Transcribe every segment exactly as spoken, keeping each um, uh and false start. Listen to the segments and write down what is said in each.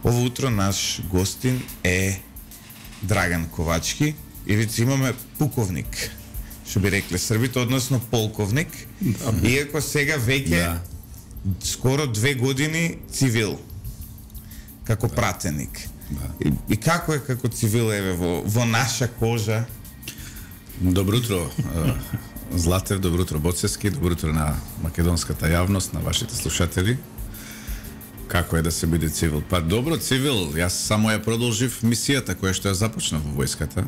Ово утро наш гостин е Драган Ковачки, или имаме пуковник, што би рекле Србите, односно полковник, да. Иако сега веќе да. Скоро две години цивил, како да. Пратеник. Да. И, и како е како цивил еве во, во наша кожа? Добро утро, Златев, добро утро Боцевски, добро утро на македонската јавност, на вашите слушатели. Како е да се биде цивил? Па добро, цивил, јас само ја продолжив мисијата која што ја започнав во војската.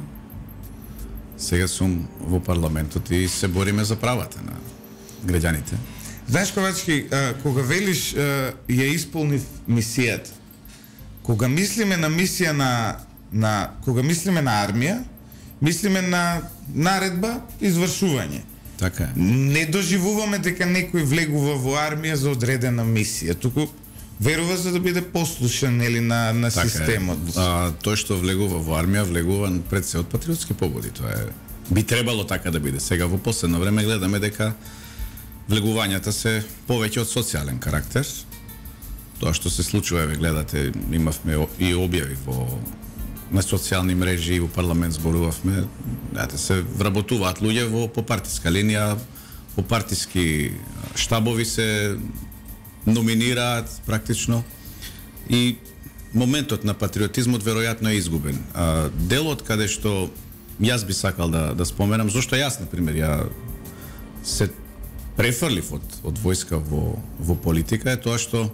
Сега сум во парламентот и се бориме за правата на граѓаните. Знаеш, Ковачки, кога велиш ја исполнив мисијата, кога мислиме на мисија на, на кога мислиме на армија, мислиме на наредба, извршување. Така е. Не доживуваме дека некој влегува во армија за одредена мисија, туку верува за да биде послушен нели на на така системот. А, тој што влегува во армија, влегува пред се од патриотски побуди. Тоа е би требало така да биде. Сега во последно време гледаме дека влегувањата се повеќе од социјален карактер. Тоа што се случува, ве гледате, имавме и објави во на социјални мрежи и во парламент зборувавме, знаете, се вработуваат луѓе во по партиска линија, по партиски штабови се номинираат практично и моментот на патриотизмот веројатно е изгубен. А, делот каде што јас би сакал да да споменам, зошто јас на пример ја се префрлив од од војска во во политика е тоа што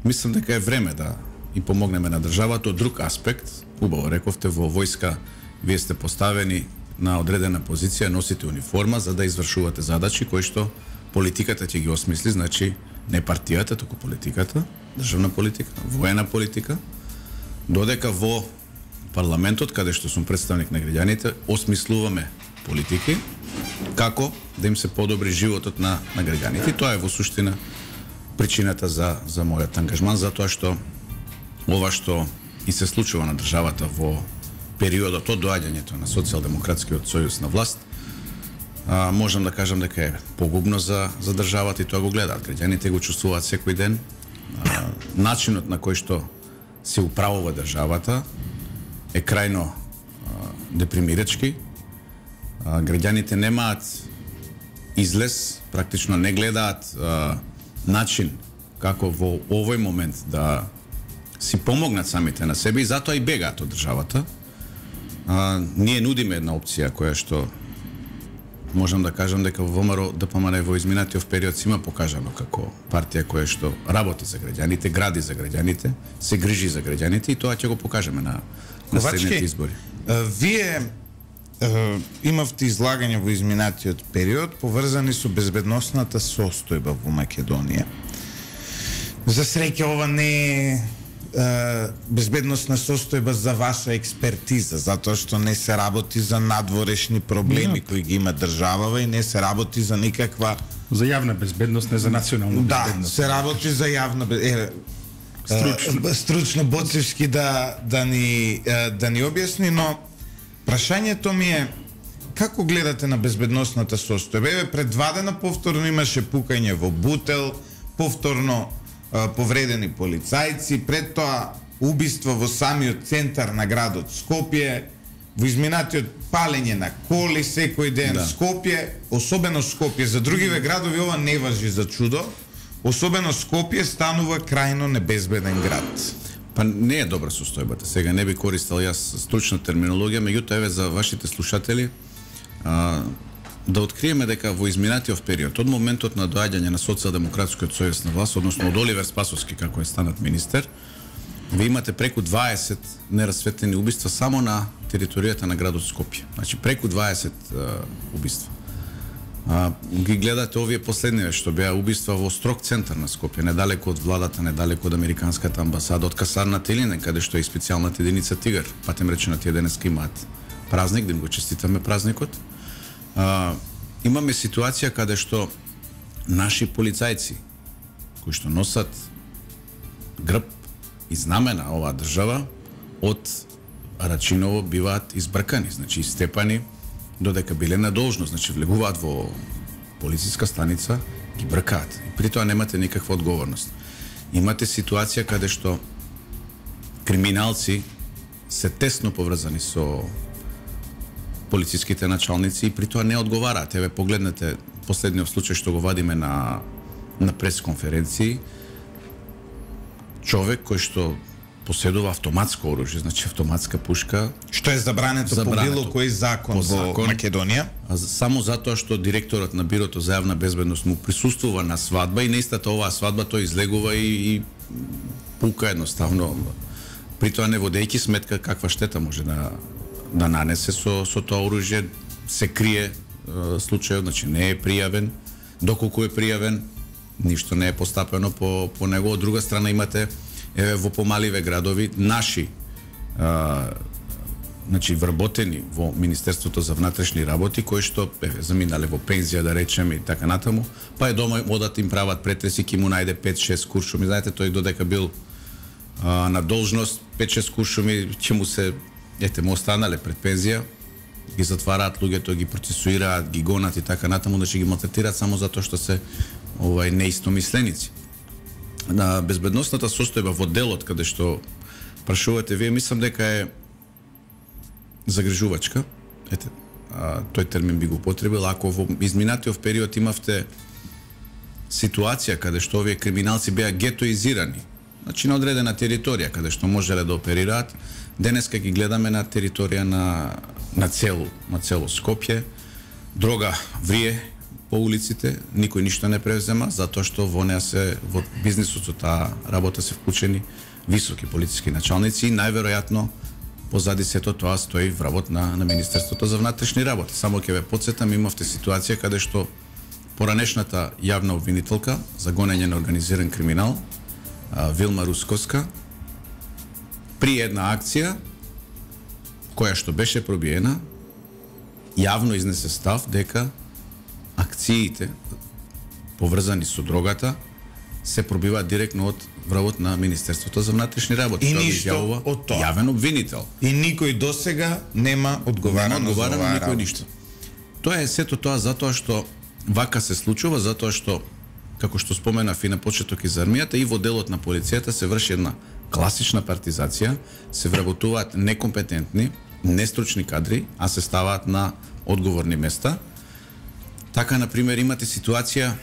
мислам дека е време да и помогнеме на државата од друг аспект. Убаво рековте, во војска вие сте поставени на одредена позиција, носите униформа за да извршувате задачи кои што политиката ќе ги осмисли, значи не партијата, туку политиката, државна политика, воена политика, додека во парламентот, каде што сум представник на граѓаните, осмислуваме политики како да им се подобри животот на на граѓаните. И тоа е во суштина причината за за мојот ангажман, затоа што ова што и се случува на државата во периодот од доаѓањето на социјалдемократскиот сојуз на власт, а, можам да кажам дека е погубно за за државата и тоа го гледаат граѓаните, го чувствуваат секој ден. А, начинот на кој што се управува државата е крајно а, депримирачки. А, граѓаните немаат излез, практично не гледаат а, начин како во овој момент да си помогнат самите на себе и затоа и бегаат од државата. А, ние нудиме една опција која што можам да кажам дека во ВМРО ДПМН во изминатиот период си има покажано како партија која што работи за граѓаните, гради за граѓаните, се грижи за граѓаните и тоа ќе го покажеме на на следните избори. Вие е, имавте излагање во изминатиот период поврзани со безбедносната состојба во Македонија. За среќа ова не е безбедносна состојба за ваша експертиза, затоа што не се работи за надворешни проблеми no. кои ги има државава и не се работи за никаква за јавна безбедност, не за национална да, безбедност. Да, се работи за јавна безбедност. Стручно, стручно Боцевски да да ни да ни објасни, но прашањето ми е како гледате на безбедносната состојба? Еве пред два дена повторно имаше пукање во Бутел, повторно повредени полицајци, пред тоа убиство во самиот центар на градот Скопје, во изминатиот палење на коли секој ден да. Скопје, особено Скопје, за другиве градови ова не важи за чудо, особено Скопје станува крајно небезбеден град. Па не е добра состојбата. Сега не би користел јас стручна терминологија, меѓутоа еве за вашите слушатели а, да откриеме дека во изминатиот период, од моментот на доаѓање на Социјалдемократскиот сојуз на власт, односно од Оливер Спасовски како е станат министер, ви имате преку дваесет нерасветлени убиства само на територијата на градот Скопје. Значи преку дваесет uh, убиства. А, ги гледате овие последни што беа убиства во строг центар на Скопје, недалеку од владата, недалеку од американската амбасада, од касарната Илине, каде што е специјалната единица Тигар. Патем речено, тие денеска имаат празник, да им го честитаме празникот. А, имаме ситуација каде што наши полицајци кои што носат грб и знамена оваа држава од Рачиново биваат избркани, значи истепани додека биле на должност, значи влегуваат во полициска станица, ги бркаат. И при тоа немате никаква одговорност. Имате ситуација каде што криминалци се тесно поврзани со полициските началници и при тоа не одговараат. Еве погледнете последниот случај што го вадиме на на пресконференции. Човек кој што поседува автоматско оружје, значи автоматска пушка, што е забрането, забрането по било кој закон во закон, Македонија, а само затоа што директорот на Бирото за јавна безбедност му присуствува на свадба и на истата оваа свадба тој излегува и, и пука едноставно, при тоа не водејќи сметка каква штета може да да нанесе со со тоа оружје, се крие е, случајот, значи не е пријавен, доколку е пријавен, ништо не е постапено по по него. Од друга страна имате еве во помаливе градови наши а, значи вработени во Министерството за внатрешни работи кои што еве заминале во пензија да речеме и така натаму, па е дома одат им прават претреси, ки му најде пет шест куршуми. Знаете, тој додека бил а, на должност, пет шест куршуми ќе му се ете му останале пред пензија, ги затвараат луѓето, ги процесуираат, ги гонат и така натаму, да ќе ги малтретираат само затоа што се овај неистомисленици. На безбедносната состојба во делот каде што прашувате вие, мислам дека е загрижувачка. Ете, а, тој термин би го потребил. Ако во изминатиот период имавте ситуација каде што овие криминалци беа гетоизирани, значи на одредена територија каде што можеле да оперираат, денеска ги гледаме на територија на на цело, на цело Скопје. Дрога врие по улиците, никој ништо не превзема, затоа што во неа се во бизнисот со таа работа се вклучени високи полициски началници и најверојатно позади сето тоа стои вработот на на Министерството за внатрешни работи. Само ќе ве потсетам, имавте ситуација каде што поранешната јавна обвинителка за гонење на организиран криминал, Вилма Русковска, при една акција која што беше пробиена, јавно изнесе став дека акциите поврзани со дрогата се пробиваат директно од вработот на Министерството за внатрешни работи. И ништо од тоа. Јавен обвинител. И никој досега нема одговарано, нема одговарано за оваа никој ништо. Тоа е сето тоа затоа што вака се случува, затоа што како што споменав и на почеток из армијата, и во делот на полицијата се врши една класична партизација, се вработуваат некомпетентни, нестручни кадри, а се ставаат на одговорни места. Така, например, имате ситуација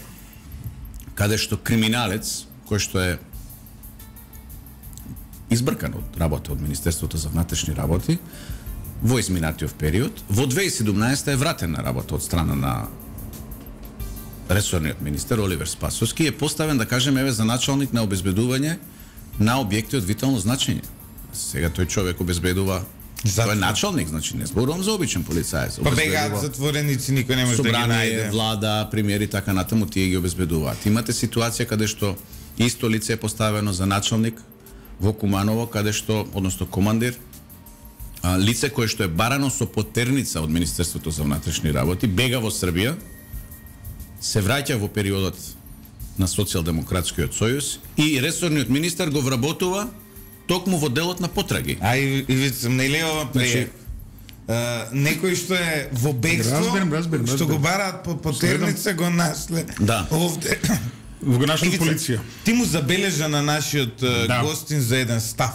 каде што криминалец, кој што е избркан од работа од Министерството за внатрешни работи, во изминатиот период, во две илјади и седумнаесета е вратен на работа од страна на ресорниот министер Оливер Спасовски, е поставен, да кажеме, еве за началник на обезбедување на објекти од витално значење. Сега тој човек обезбедува, тој е началник, значи не зборувам за обичен полицаец. Па бегаат затвореници, никој не може да ги најде. Влада, премиери, така натаму, тие ги обезбедуваат. Имате ситуација каде што исто лице е поставено за началник во Куманово, каде што, односно командир, лице кое што е барано со потерница од Министерството за внатрешни работи, бега во Србија, се враќа во периодот на Социјалдемократскиот сојуз и ресорниот министер го вработува токму во делот на потраги. А и, и вицам, не ли ова прие? Некој што е во бегство, разберем, разберем, што разберем. го бараат по потерница, го нашле Да. овде. Во нашата Ивица, полиција. Ти му забележа на нашиот Да. гостин за еден став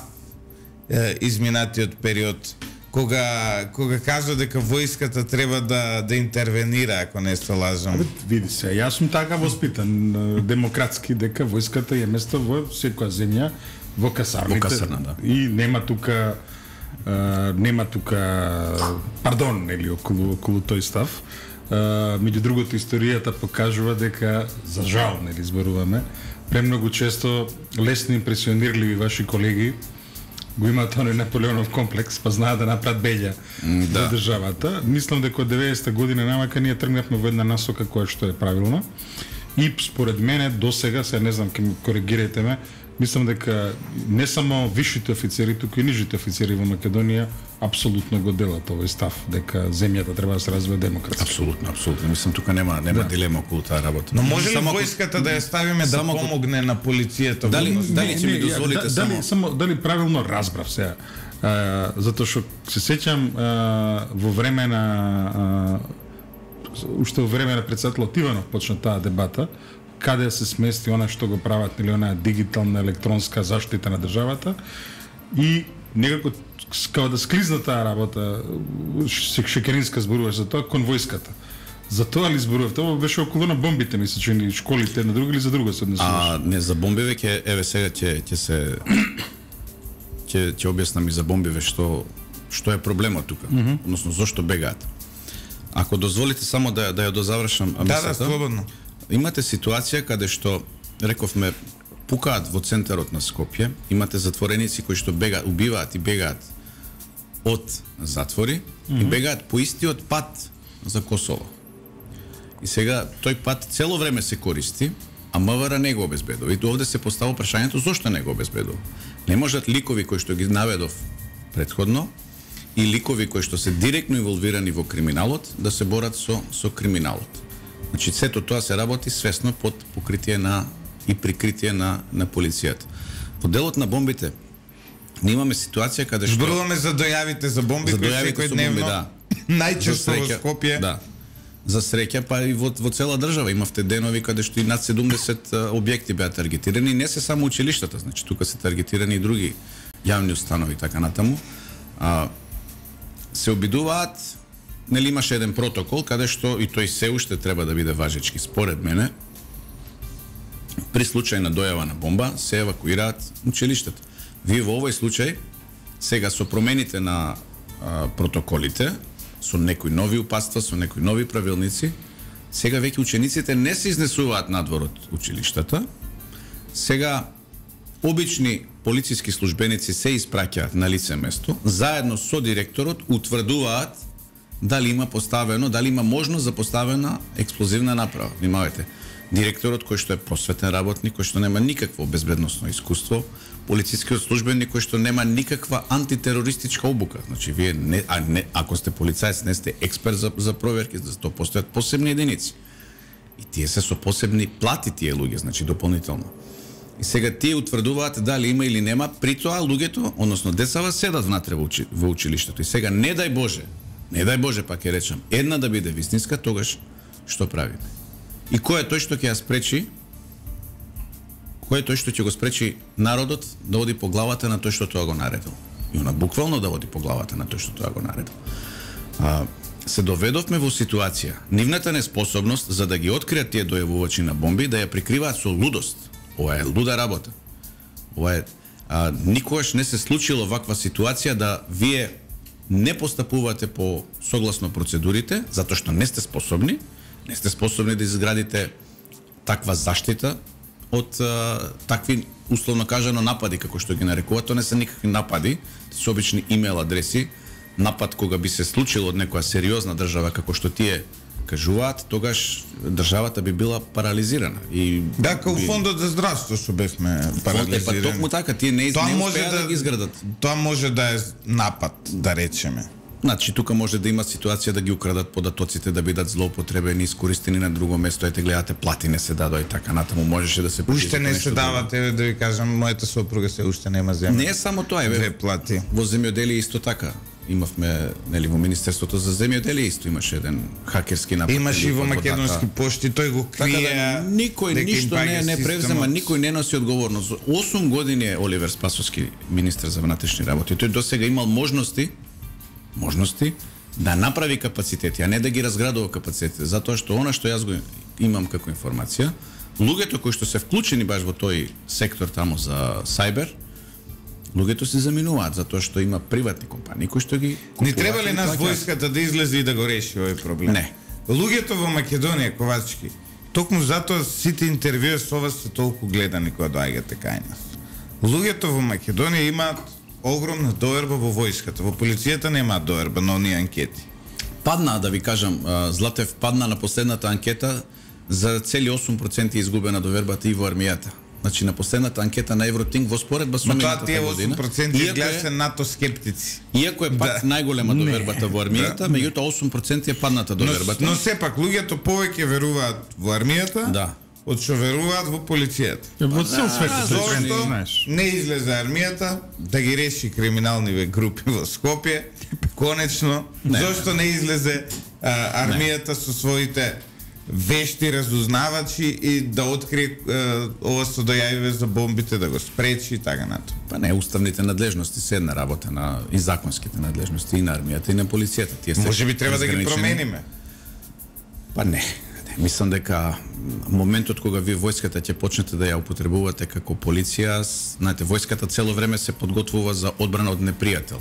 е, изминатиот период, кога кога кажа дека војската треба да да интервенира, ако не се лажам. Види се, јас сум така воспитан е, демократски, дека војската е место во секоја земја, во касарните. Во касарна, да. И нема тука е, нема тука пардон, нели, околу околу тој став. Uh, меѓу другото, историјата покажува дека, за жал, нели, зборуваме, премногу често лесно импресионирливи ваши колеги го имаат оној Наполеонов комплекс, па знаат да направат беља mm, да. за државата. Мислам дека од деветдесета година намака ние тргнавме во една насока која што е правилна. И според мене досега, се не знам, ке ме коригирајте ме, мислам дека не само висшите офицери, туку и нижите офицери во Македонија апсолутно го делат овој став, дека земјата треба да се развива демократски. Апсолутно, апсолутно. Мислам, тука нема нема да. дилема околу таа работа. Но може ли само војската да ја ставиме да само помогне на полицијата? Дали во- дали ќе ми дозволите да, само дали, само дали правилно разбрав сега? А, затоа што се сеќам а, во време на а, уште во време на председателот Иванов почна таа дебата, каде се смести она што го прават или онаа дигитална електронска заштита на државата. и некако као да склизна таа работа, Шекеринска зборуваш за тоа, кон војската. За тоа ли зборував? Тоа беше околу на бомбите, мисля, че ни школите една друга или за друга се однесуваш? А, не, за бомбиве ќе, еве сега ќе ќе се ќе ќе објаснам и за бомбиве што што е проблемот тука, mm -hmm. односно зошто бегаат. Ако дозволите само да да ја дозавршам мислата. Да, да, слободно. Имате ситуација каде што рековме пукаат во центарот на Скопје, имате затвореници кои што бегаат, убиваат и бегаат од затвори mm -hmm. и бегаат по истиот пат за Косово. И сега тој пат цело време се користи, а МВР не го обезбедува. И овде се поставува прашањето зошто не го обезбедува. Не можат ликови кои што ги наведов претходно и ликови кои што се директно инволвирани во криминалот да се борат со со криминалот. Значи сето тоа се работи свесно под покритие на и прикритие на на полицијата. Во делот на бомбите ние имаме ситуација каде што зборуваме за дојавите за бомби за кои дојавите со бомби, да. Најчесто во Скопје. Да. За среќа, па и во, во цела држава имавте денови каде што и над седумдесет објекти беа таргетирани, не се само училиштата, значи тука се таргетирани и други јавни установи така натаму. А, се обидуваат, нели имаше еден протокол каде што и тој се уште треба да биде важечки според мене. При случај на дојава на бомба се евакуираат училиштата. Вие во овој случај сега со промените на а, протоколите, со некои нови упатства, со некои нови правилници, сега веќе учениците не се изнесуваат надвор од училиштата. Сега обични полициски службеници се испраќаат на лице место, заедно со директорот утврдуваат дали има поставено, дали има можност за поставена експлозивна направа. Внимавајте, директорот кој што е просветен работник, кој што нема никакво безбедносно искуство, полицискиот службеник кој што нема никаква антитерористичка обука. Значи вие не, а не ако сте полицаец не сте експерт за за проверки, за тоа постојат посебни единици. И тие се со посебни плати тие луѓе, значи дополнително. И сега тие утврдуваат дали има или нема, при тоа луѓето, односно децава седат внатре во, учи, во училиштето. И сега не дај Боже, не дај Боже пак ќе речам, една да биде вистинска, тогаш што правиме? И кој е тој што ќе ја спречи? Кој е тој што ќе го спречи народот да оди по главата на тој што тоа го наредил? И она буквално да оди по главата на тој што тоа го наредил. А, се доведовме во ситуација, нивната неспособност за да ги откријат тие дојавувачи на бомби, да ја прикриваат со лудост. Ова е луда работа. Ова е а, никогаш не се случило ваква ситуација да вие не постапувате по согласно процедурите, затоа што не сте способни, не сте способни да изградите таква заштита од а, такви условно кажано напади како што ги нарекуваат. Тоа не се никакви напади, се обични имейл адреси. Напад кога би се случило од некоја сериозна држава како што тие кажуваат, тогаш државата би била парализирана. И да, како би... фондот за здравство што бевме парализирани. Па токму така, тие не, тоа не може успеа да, да ги изградат. Тоа може да е напад, да речеме. Значи тука може да има ситуација да ги украдат податоците, да бидат злоупотребени, искористени на друго место. Ете гледате, плати не се дадоа и така натаму можеше да се уште не се дават, еве да ви кажам, мојата сопруга се уште нема земја. Не е само тоа, еве. Две плати. Во земјоделие исто така. Имавме, нели, во Министерството за земјоделие исто имаше еден хакерски напад. Имаше и во Македонски пошти, тој го крие. Така да, никој ништо не не превзема, никој не носи одговорност. осум години е Оливер Спасовски министер за внатрешни работи. Тој досега имал можности можности да направи капацитети, а не да ги разградува капацитети, затоа што она што јас го имам како информација, луѓето кои што се вклучени баш во тој сектор таму за сајбер, луѓето се заминуваат затоа што има приватни компании кои што ги купуваат. Не треба ли нас војската да излезе и да го реши овој проблем? Не. Луѓето во Македонија, Ковачки, токму затоа сите интервјуи со вас се толку гледани кога доаѓате кај нас. Луѓето во Македонија имаат огромна доверба во војската, во полицијата немаат доверба на оние анкети. Падна, да ви кажам, Златев падна на последната анкета, за цели осум проценти изгубена довербата и во армијата. Значи на последната анкета на Евротинг во споредба со минатата година. Тоа тие осум проценти изгледа се НАТО скептици. Иако е пак да. најголема довербата во армијата, да. меѓутоа осум проценти е падната довербата. Но, но сепак луѓето повеќе веруваат во армијата. Да. Од што веруваат во полицијата. Во цел свет се зошто не излезе армијата да ги реши криминални групи во Скопје, конечно. Не, зошто не излезе а, армијата не. со своите вешти разузнавачи и да открие е, ова со дојавиве за бомбите, да го спречи и така нато. Па не, уставните надлежности се една работа на и законските надлежности и на армијата и на полицијата. Тие се Може би треба да ги промениме. Па не. не. Мислам дека моментот кога вие војската ќе почнете да ја употребувате како полиција, знаете, војската цело време се подготвува за одбрана од непријател.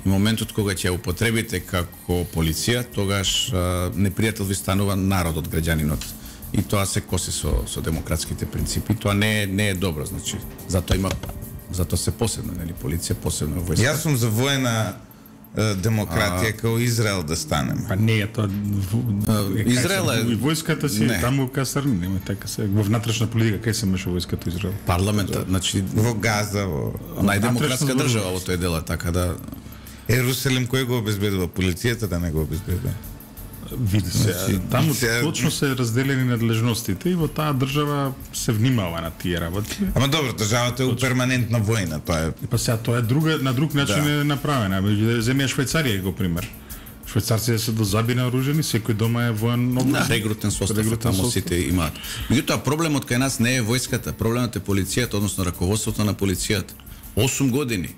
И моментот кога ќе ја употребите како полиција, тогаш а, непријател ви станува народот, граѓанинот. И тоа се коси со со демократските принципи. Тоа не е не е добро, значи. Затоа има затоа се посебно, нели, полиција, посебно војска. Јас сум за воена е, демократија а... како Израел да станем. Па не е тоа. Израел е и војската си не. Таму касарни, нема така се во внатрешна политика кај се меша војската Израел. Парламентот, значи во Газа, во најдемократска држава во тој дел, така да Ерусалим кој го обезбедува? Полицијата да не го обезбедува. Види се, значи, таму се... точно се разделени надлежностите и во таа држава се внимава на тие работи. Ама добро, државата е у перманентна војна, тоа е. Па сега тоа е друга на друг начин да. е направена. Земја Швајцарија го пример. Швајцарците се до заби наоружени, секој дома е воен обуз. Да, регрутен состав, таму сите имаат. Меѓутоа проблемот кај нас не е војската, проблемот е полицијата, односно раководството на полицијата. осум години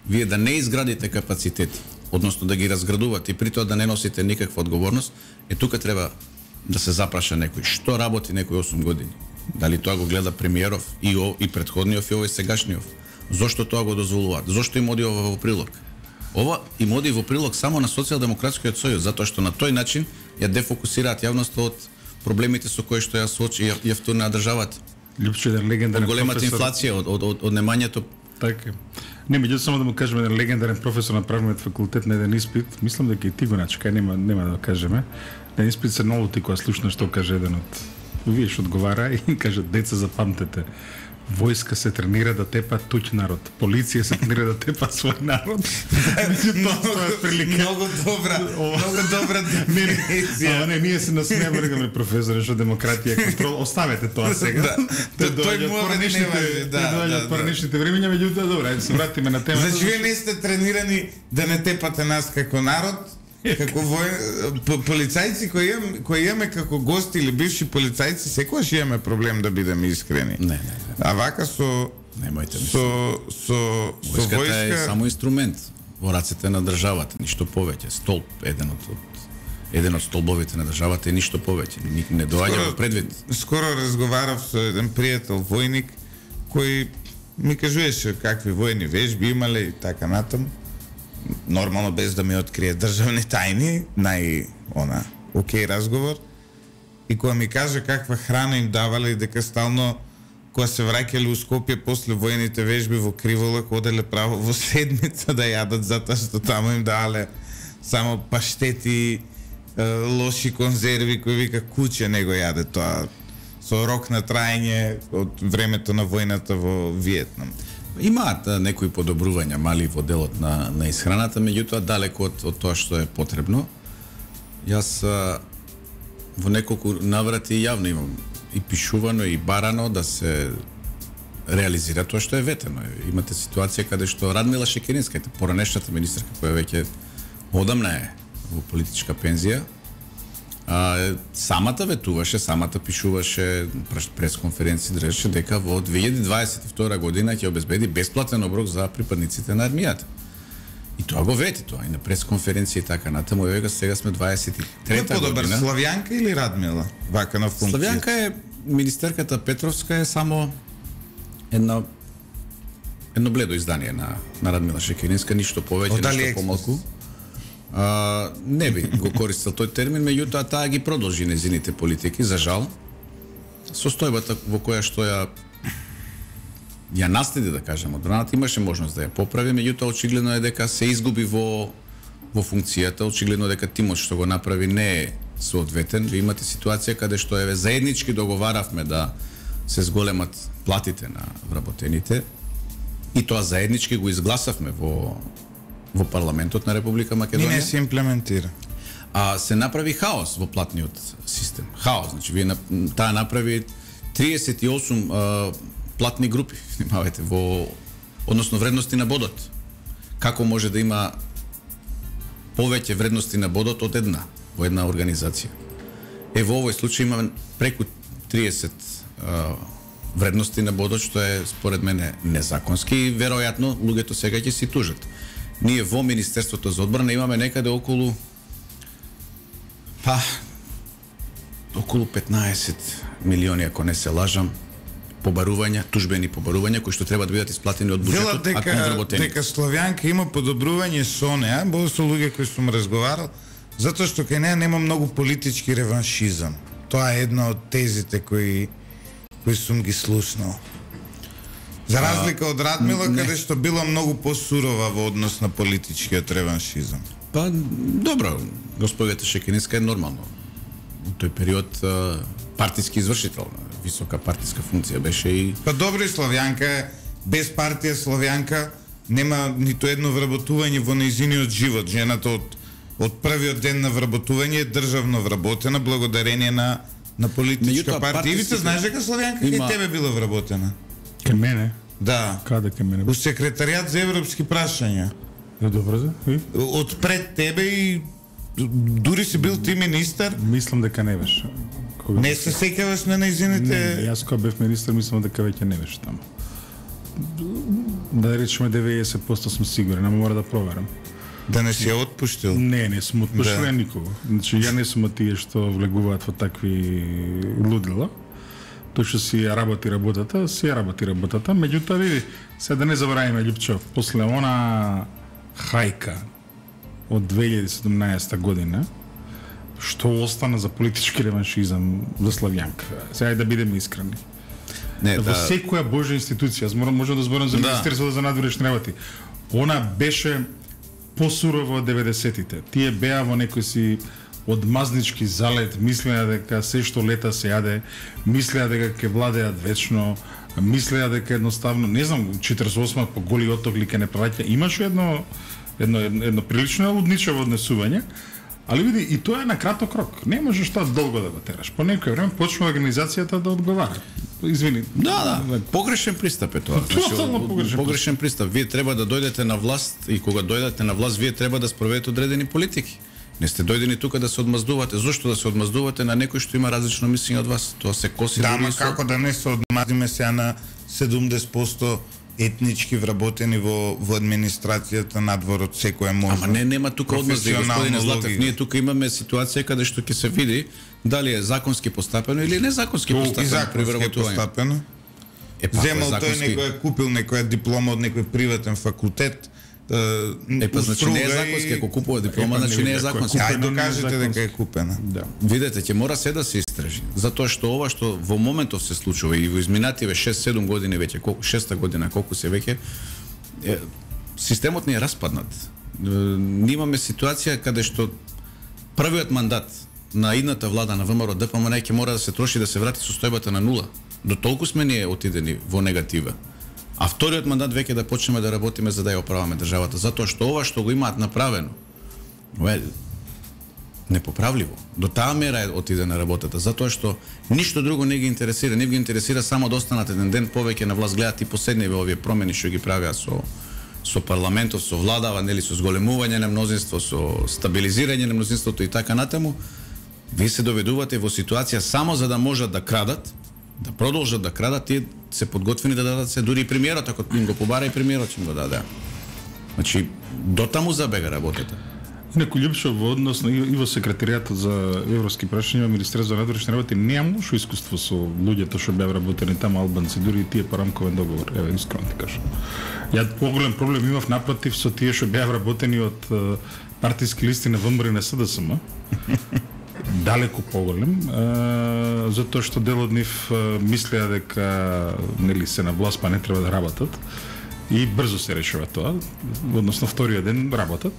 вие да не изградите капацитети, односно да ги разградувате и при тоа да не носите никаква одговорност, е тука треба да се запраша некој. Што работи некој осум години? Дали тоа го гледа премиеров и о, и претходниот и овој сегашниот? Зошто тоа го дозволуваат? Зошто им оди ова во прилог? Ова им оди во прилог само на Социјалдемократскиот сојуз, затоа што на тој начин ја дефокусираат јавноста од проблемите со кои што ја соочи ја втурна државата. Лјупче еден легендарен од големата професор... инфлација, од од од, од немањето. Така. Не, меѓутоа само да му кажеме еден легендарен професор на правниот факултет на еден испит, мислам дека и ти го начекај, нема нема да кажеме. На испит се налути кога слушна што каже еден од вие што одговара и каже: деца, запамтете, војска се тренира да тепа туѓ народ, полиција се тренира да тепа свој народ. Тоа е прилика. Многу добра, многу добра дефиниција. Не, ние се насмееме, рекаме професоре, што демократија е контрол. Оставете тоа сега. Тој мора не важи, да. Доаѓаат парничните времиња, меѓутоа добро, ајде се вратиме на темата. Значи вие не сте тренирани да не тепате нас како народ, како вој... полицајци кои имаме, кои имаме како гости или бивши полицајци, секогаш имаме проблем да бидеме искрени. Не, не, не. А вака со Немојте ми. Со со со војската војска е само инструмент во рацете на државата, ништо повеќе. Столб, еден од еден од столбовите на државата е ништо повеќе. Не доаѓа во предвид. Скоро разговарав со еден пријател војник кој ми кажуваше какви војни вежби имале и така натаму. Нормално без да ми открие државни тајни, нај она окей разговор. И кога ми кажа каква храна им давале и дека стално кога се враќале у Скопје после војните вежби во Криволак, оделе право во седмица да јадат, затоа што таму им давале само паштети, лоши конзерви кои вика куќе не го јаде тоа, со рок на траење од времето на војната во Виетнам. Имаат некои подобрувања мали во делот на на исхраната, меѓутоа далеку од, од тоа што е потребно. Јас а, во неколку наврати јавно имам и пишувано и барано да се реализира тоа што е ветено. Имате ситуација каде што Радмила Шекеринска, поранешната министерка која веќе одамна е во политичка пензија, а, самата ветуваше, самата пишуваше пресконференција, држеше дека во две илјади дваесет и втора година ќе обезбеди бесплатен оброк за припадниците на армијата. И тоа го вети тоа и на пресконференција и така натаму. Еве сега сме дваесет и трета година. Славјанка или Радмила? Вака на функција. Славјанка е министерката Петровска е само една едно бледо издание на на Радмила Шекеринска, ништо повеќе, ништо помалку. А, не би го користел тој термин, меѓутоа таа ги продолжи незините политики, за жал. Состојбата во која што ја ја наследи, да кажем, одбраната, имаше можност да ја поправи, меѓутоа очигледно е дека се изгуби во во функцијата, очигледно дека тимот што го направи не е соодветен. Ви имате ситуација каде што еве заеднички договаравме да се зголемат платите на вработените и тоа заеднички го изгласавме во во парламентот на Република Македонија. И не се имплементира. А се направи хаос во платниот систем. Хаос, значи вие таа направи триесет и осум а, платни групи, внимавајте, во односно вредности на бодот. Како може да има повеќе вредности на бодот од една во една организација? Е, во овој случај имаме преку триесет а, вредности на бодот, што е според мене незаконски и веројатно луѓето сега ќе си тужат. Ние во Министерството за одбрана имаме некаде околу па околу петнаесет милиони, ако не се лажам, побарувања, тужбени побарувања кои што треба да бидат исплатени од буџетот, а кон вработени. Дека Славјанка има подобрување со неа, бо со луѓе кои сум разговарал, затоа што кај неа нема многу политички реваншизам. Тоа е една од тезите кои кои сум ги слушнал. За разлика од Радмила, не. каде што била многу посурова во однос на политичкиот реваншизам. Па, добро, господјата Шекинеска е нормално. Во тој период партиски извршител, висока партиска функција беше и... Па добро, и Славјанка е, без партија Славјанка нема ниту едно вработување во нејзиниот живот. Жената од, од првиот ден на вработување е државно вработена благодарение на, на политичка партија. Ивица, знаеш дека Славјанка има... кај тебе била вработена? Кај мене? Да. Каде кај мене? У секретаријат за европски прашања. Е, добро за? И? Од пред тебе и дури си бил ти министар. Мислам дека не беше. Кога... Не се сеќаваш на нејзините... Не, јас кога бев министар мислам дека веќе не беше таму. Да речеме деветдесет проценти сум сигурен, ама мора да проверам. Да не си ја отпуштил? Не, не сум отпуштил да. никого. Значи ја не сум од тие што влегуваат во такви лудила. Тој што си ја работи работата, си ја работи работата, меѓутоа види, се да не забораваме Љупчо, после она хајка од две илјади и седумнаесета година, што остана за политички реваншизам за Славјанка. Сега да бидеме искрени. Не, во да... секоја божја институција, аз морам можам да зборам за да. Министерството за надворешни работи. Она беше посурова од деветдесетите. Тие беа во некој си одмазнички залет, мислеа дека се што лета се јаде, мислеа дека ќе владеат вечно, мислеа дека едноставно, не знам, четиридесет и осма по голи отогли ќе не праќа. Имаше едно едно едно, едно прилично лудничево однесување, али види и тоа е на краток рок. Не можеш тоа долго да го тераш. По некој време почнува организацијата да одговара. Извини. Да, да. Погрешен пристап е тоа. Тотално погрешен, погрешен пристап. Вие треба да дојдете на власт и кога дојдете на власт, вие треба да спроведете одредени политики. Не сте дојдени тука да се одмаздувате. Зошто да се одмаздувате на некој што има различно мислење од вас? Тоа се коси. Да, ама како да не се одмаздиме сега на седумдесет проценти етнички вработени во во администрацијата надвор од секоја можност. Ама не, нема тука одмазди, господине Златев. Ние тука имаме ситуација каде што ќе се види дали е законски постапено или незаконски постапено при вработување. Е, земал тој некој е купил некоја диплома од некој приватен факултет. Е, па значи не е законски, ако купува диплома, значи не е законски. Ајде докажете дека е купена. Да. Видете, ќе мора се да се истражи, затоа што ова што во моментов се случува и во изминативе шест-седум години веќе, колку шеста година, колку се веќе, е, системот не е распаднат. Ние имаме ситуација каде што првиот мандат на идната влада на ВМРО Д П М Н ќе мора да се троши да се врати состојбата на нула. До толку сме ние отидени во негатива. А вториот мандат веќе да почнеме да работиме за да ја оправаме државата, затоа што ова што го имаат направено е непоправливо. До таа мера е отиде на работата, затоа што ништо друго не ги интересира, не ги интересира само да останат еден ден повеќе на власт, гледат и последниве овие промени што ги правеа со со парламентов, со владава, нели со зголемување на мнозинство, со стабилизирање на мнозинството и така натаму. Вие се доведувате во ситуација само за да можат да крадат, да продолжат да крадат, тие се подготвени да дадат се, дури и премиерот, ако им го побара и премиерот ќе им го даде. Значи, дотаму забега работата. Некој Љупчо во однос на и во секретаријатот за европски прашања, Министерството за надворешни работи нема лошо искуство со луѓето што беа работени таму, албанци, дури и тие по рамковен договор. Еве, искрено ти кажам. Ја поголем проблем имав напротив со тие што беа работени од партиски листи на ВМРО и на С Д С М. Далеку поголем, а, затоа што дел од нив мислеа дека нели се на власт па не треба да работат и брзо се решува тоа, односно вториот ден работат.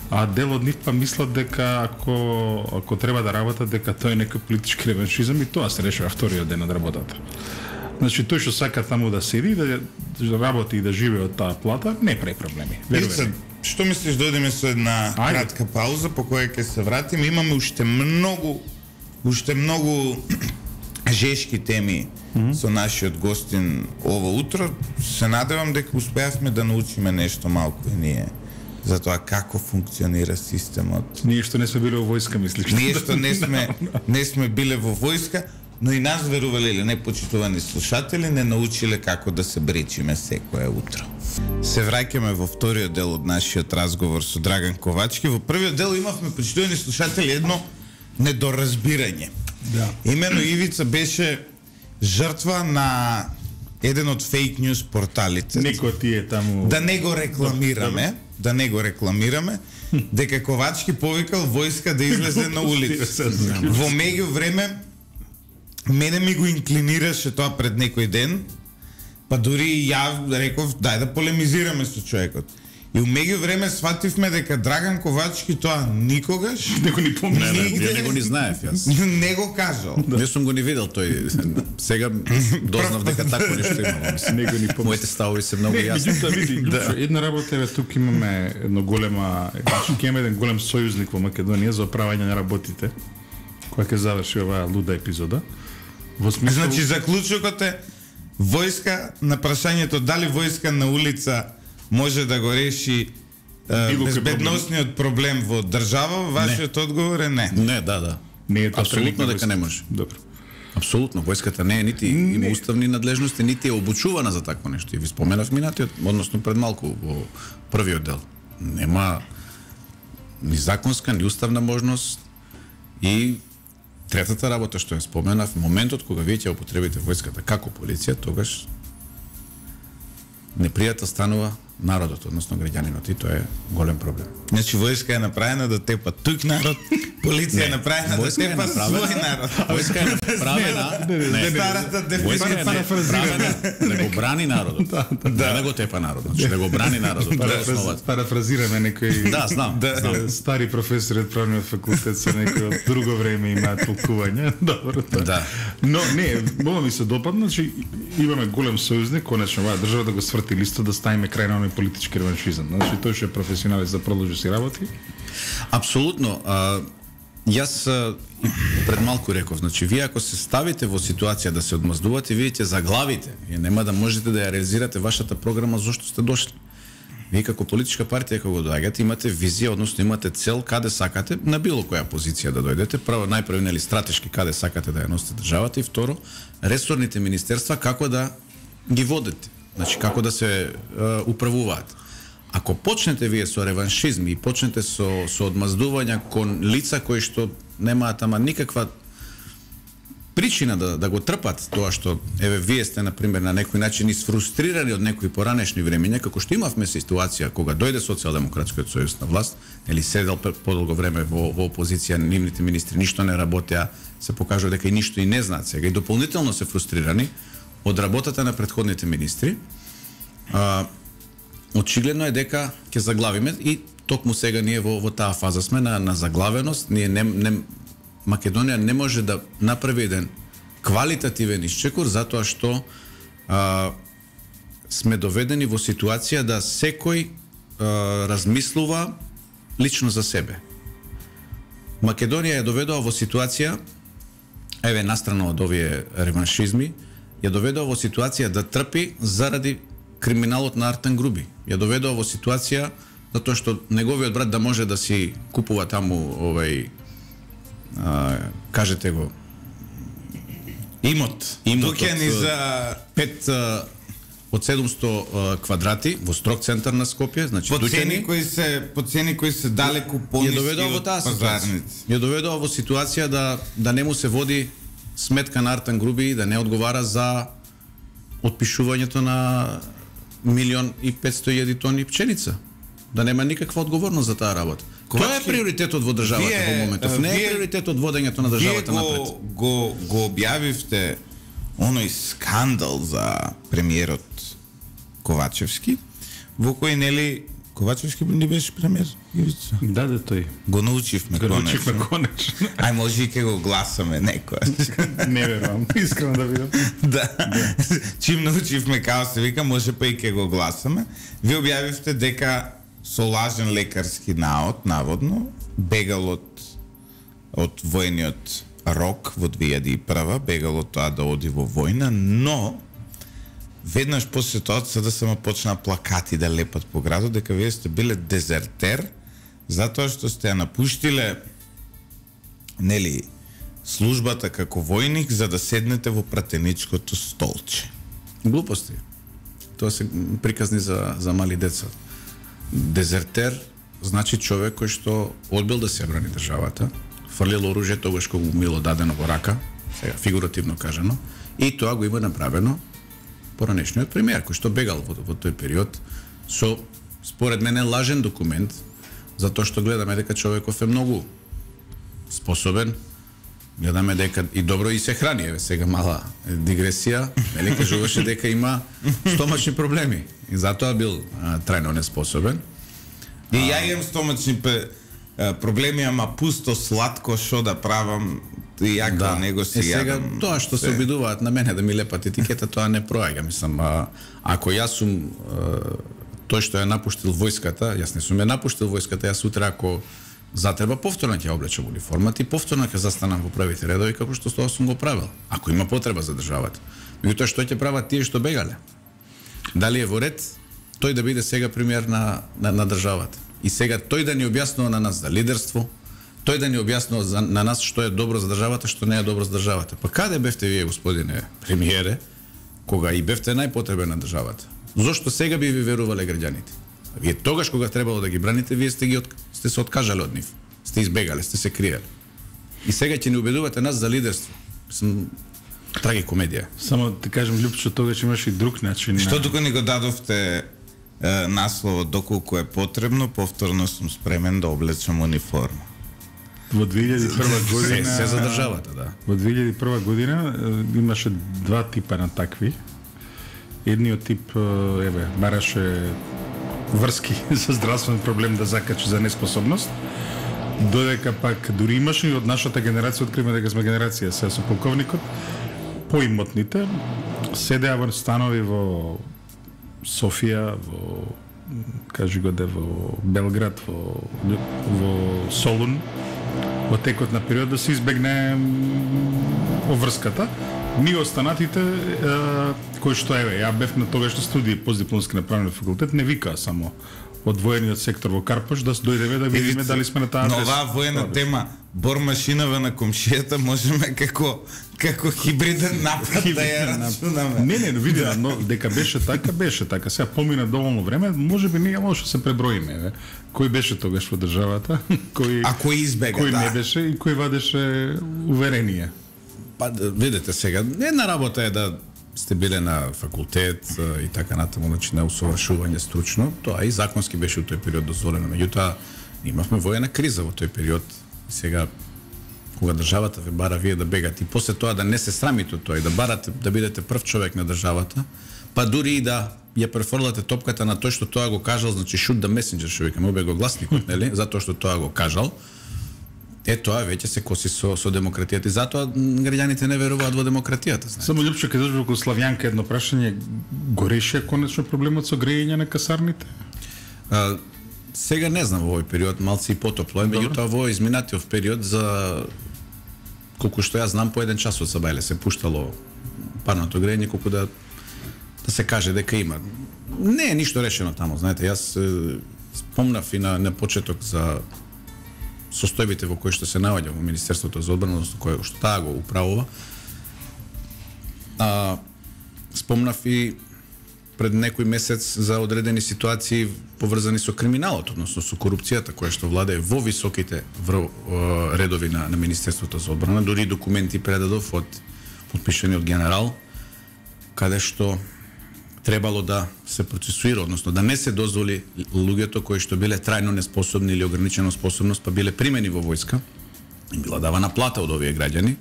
А дел од нив па мислат дека ако ако треба да работат дека тоа е некој политички реваншизам и тоа се решава вториот ден од работата. Значи тој што сака таму да седи, да работи и да живее од таа плата, не прави проблеми. Веруваме. Што мислиш, дојдеме со една Ајде. кратка пауза по која ќе се вратиме. Имаме уште многу уште многу жешки теми mm-hmm. со нашиот гостин ово утро. Се надевам дека успеавме да научиме нешто малку и ние за тоа како функционира системот. Ние што не сме биле во војска, мислиш? Ние што не сме не сме биле во војска, но и нас верувале или не, почитувани слушатели, не научиле како да се бречиме секое утро. Се враќаме во вториот дел од нашиот разговор со Драган Ковачки. Во првиот дел имавме, почитувани слушатели, едно недоразбирање. Да. Имено Ивица беше жртва на еден од фейк ньюс порталите. Некој ти е таму. Да не го рекламираме, да не го рекламираме, дека Ковачки повикал војска да излезе на улица. Во меѓувреме мене ми го инклинираше тоа пред некој ден, па дури и ја реков дај да полемизираме со човекот. И у меѓувреме свативме дека Драган Ковачки тоа никогаш не го ни помни. Не, не, ја не го ни знаев јас. Не го кажал. Да. Не сум го ни видел тој. Сега дознав дека тако нешто има. Не го ни помни. Моите ставови се многу јасни. јасни. Меѓутоа види, да. Една работа е тук имаме едно голема, ќе имаме еден голем сојузник во Македонија за оправање на работите, која ќе заврши оваа луда епизода. Во смисла, значи заклучокот е војска на прашањето дали војска на улица може да го реши е, безбедносниот проблем во држава, вашиот не. Одговор е не. Не, да, да. Не е апсолутно дека не може. Добро. Апсолутно, војската не е нити не. Има уставни надлежности, нити е обучувана за такво нешто. И ви споменав минатиот, односно пред малку во првиот дел. Нема ни законска, ни уставна можност и третата работа што ја споменав, моментот кога вие ќе употребите војската како полиција, тогаш непријател станува народот, односно граѓанинот, и тоа е голем проблем. Значи војска е направена да тепа тук народ, полиција е направена да тепа свој народ. Војска е направена, не, старата војска е направена да го брани народот. Да, да го тепа народот, значи да го брани народот, тоа е основата. Парафразираме некој. Да, знам, знам. Стари професори од правниот факултет со некој од друго време имаат толкување. Добро, тоа. Да. Но не, бolo ми се допадна, значи имаме голем сојузник, конечно оваа држава да го сврти листот, да ставиме крај на политички реваншизам. Значи тој што е професионалист да продолжи си работи. Апсолутно. А, јас а, пред малку реков, значи вие ако се ставите во ситуација да се одмаздувате, вие ќе заглавите и нема да можете да ја реализирате вашата програма зошто сте дошли. Вие како политичка партија кога доаѓате имате визија, односно имате цел каде сакате на било која позиција да дојдете. Прво најпрво нели стратешки каде сакате да ја носите државата и второ ресорните министерства како да ги водите. Значи како да се е, управуваат. Ако почнете вие со реваншизми и почнете со со одмаздувања кон лица кои што немаат ама никаква причина да да го трпат тоа што еве вие сте на пример на некој начин исфрустрирани од некои поранешни времења, како што имавме ситуација кога дојде Социјалдемократскиот сојуз на власт, или седел подолго време во во опозиција, нивните министри ништо не работеа, се покажува дека и ништо и не знаат сега и дополнително се фрустрирани од работата на претходните министри. А, очигледно е дека ќе заглавиме и токму сега ние во во таа фаза сме на на заглавеност, ние не, не Македонија не може да направи еден квалитативен исчекор затоа што а, сме доведени во ситуација да секој а, размислува лично за себе. Македонија ја доведува во ситуација, еве настрана од овие реваншизми, ја доведува во ситуација да трпи заради криминалот на Артан Груби. Ја доведува во ситуација затоа што неговиот брат да може да си купува таму овај а, кажете го имот. Имот Тука ни за пет а, од седумсто а, квадрати во строг центар на Скопје, значи по цени кои се по цени кои се далеку пониски од пазарници. Ја доведува во ситуација да да не му се води сметка на Артан Груби и да не одговара за отпишувањето на милион и петсто илјади тони пченица. Да нема никаква одговорност за таа работа. Ковачки, тоа е приоритетот во државата вие, во моментов. Не е приоритетот водењето на државата го, напред. Го го објавивте оној скандал за премиерот Ковачевски, во кој нели Ковачевски не беше премиер? Да, да, тој. Го научивме конечно. Го научивме конечно. Ај може и ке го гласаме некој. Не верувам, искрено да видам. Да. Чим научивме као се вика, може па и ке го гласаме. Ви објавивте дека со лажен лекарски наод, наводно, бегал од од војниот рок во две илјади и прва, бегал од тоа да оди во војна, но веднаш по ситуација да се ма почна плакати да лепат по градот дека вие сте биле дезертер затоа што сте ја напуштиле нели службата како војник за да седнете во пратеничкото столче. Глупости. Тоа се приказни за за мали деца. Дезертер значи човек кој што одбил да се брани државата, фрлил оружје тогаш кога му било дадено во рака, сега фигуративно кажано, и тоа го има направено поранешниот премиер кој што бегал во, во тој период со според мене лажен документ, затоа што гледаме дека човеков е многу способен, гледаме дека и добро и се храни, еве сега мала дигресија, нели кажуваше дека има стомачни проблеми и затоа бил а, трајно неспособен. И ја имам стомачни проблеми, ама пусто сладко што да правам и ја да. Него си е, сега јадам. Тоа што се обидуваат на мене да ми лепат етикета, тоа не проаѓа, мислам, а, ако јас сум а, тој што ја напуштил војската, јас не сум ја напуштил војската, јас утре ако затреба повторно ќе облечам униформата и повторно ќе застанам во првите редови како што тоа сум го правил, ако има потреба за државата. Меѓутоа што ќе прават тие што бегале? Дали е во ред тој да биде сега премиер на, на, на државата? И сега тој да ни објаснува на нас за лидерство, тој да ни објаснува за, на нас што е добро за државата, што не е добро за државата. Па каде бевте вие, господине премиере, кога и бевте најпотребен на државата? Зошто сега би ви верувале граѓаните? Вие тогаш кога требало да ги браните, вие сте ги од... сте се откажале од нив. Сте избегале, сте се криеле. И сега ќе ни убедувате нас за лидерство. Сум трагикомедија. Само да кажем, Лјупчо, тогаш имаш и друг начин. Што тука ни го дадовте е, насловот доколку е потребно, повторно сум спремен да облечам униформа. Во две илјади и прва година се, се за државата, да. Во две илјади и прва година е, имаше два типа на такви. Едниот тип еве бараше врски за здравствен проблем да закачи за неспособност. Додека пак дури имаше и од нашата генерација, откриме дека сме генерација сега со полковникот, поимотните седеа во станови во Софија, во кажи го де во Белград, во во Солун, во текот на период да се избегне оврската. Ние останатите е, кои што еве, ја бев на тогаш студии постдипломски на правен факултет, не викаа само од воениот сектор во Карпаш да дојдеме да видиме дали сме на таа. Но оваа воена тема бормашинава на комшијата можеме како како хибриден напад да ја рачунаме. Не, не, види, но дека беше така, беше така. Сега помина доволно време, можеби ние може да се преброиме, еве. Кој беше тогаш во државата, кој а кој избега, кој да. не беше и кој вадеше уверение. Па видете сега, една работа е да сте биле на факултет и така натаму, значи на усовршување стручно, тоа и законски беше во тој период дозволено. Меѓутоа, имавме воена криза во тој период. Сега кога државата ве бара вие да бегате и после тоа да не се срамите од тоа и да барате да бидете прв човек на државата, па дури и да ја префрлате топката на тој што тоа го кажал, значи shoot the messenger, што викаме, обе го гласникот, нели? Затоа што тоа го кажал. Е, тоа веќе се коси со, со демократијата и затоа граѓаните не веруваат во демократијата. Знаете. Само Лјупчо, кај дојдеш во Славјанка едно прашање, гореше конечно проблемот со грејење на касарните? А, сега не знам во овој период, малце и потопло е, меѓутоа во изминатиот период за колку што јас знам по еден час од Сабајле се пуштало парното грејење, колку да да се каже дека има. Не е ништо решено таму, знаете, јас е, спомнав и на, на почеток за состојбите во кои што се наоѓа во Министерството за одбрана, односно кој што таа го управува. А, спомнав и пред некој месец за одредени ситуации поврзани со криминалот, односно со корупцијата која што владее во високите вр... редови на, на Министерството за одбрана, дури документи предадов од подпишани од генерал, каде што требало да се процесуира, односно да не се дозволи луѓето кои што биле трајно неспособни или ограничена способност, па биле примени во војска, и била давана плата од овие граѓани.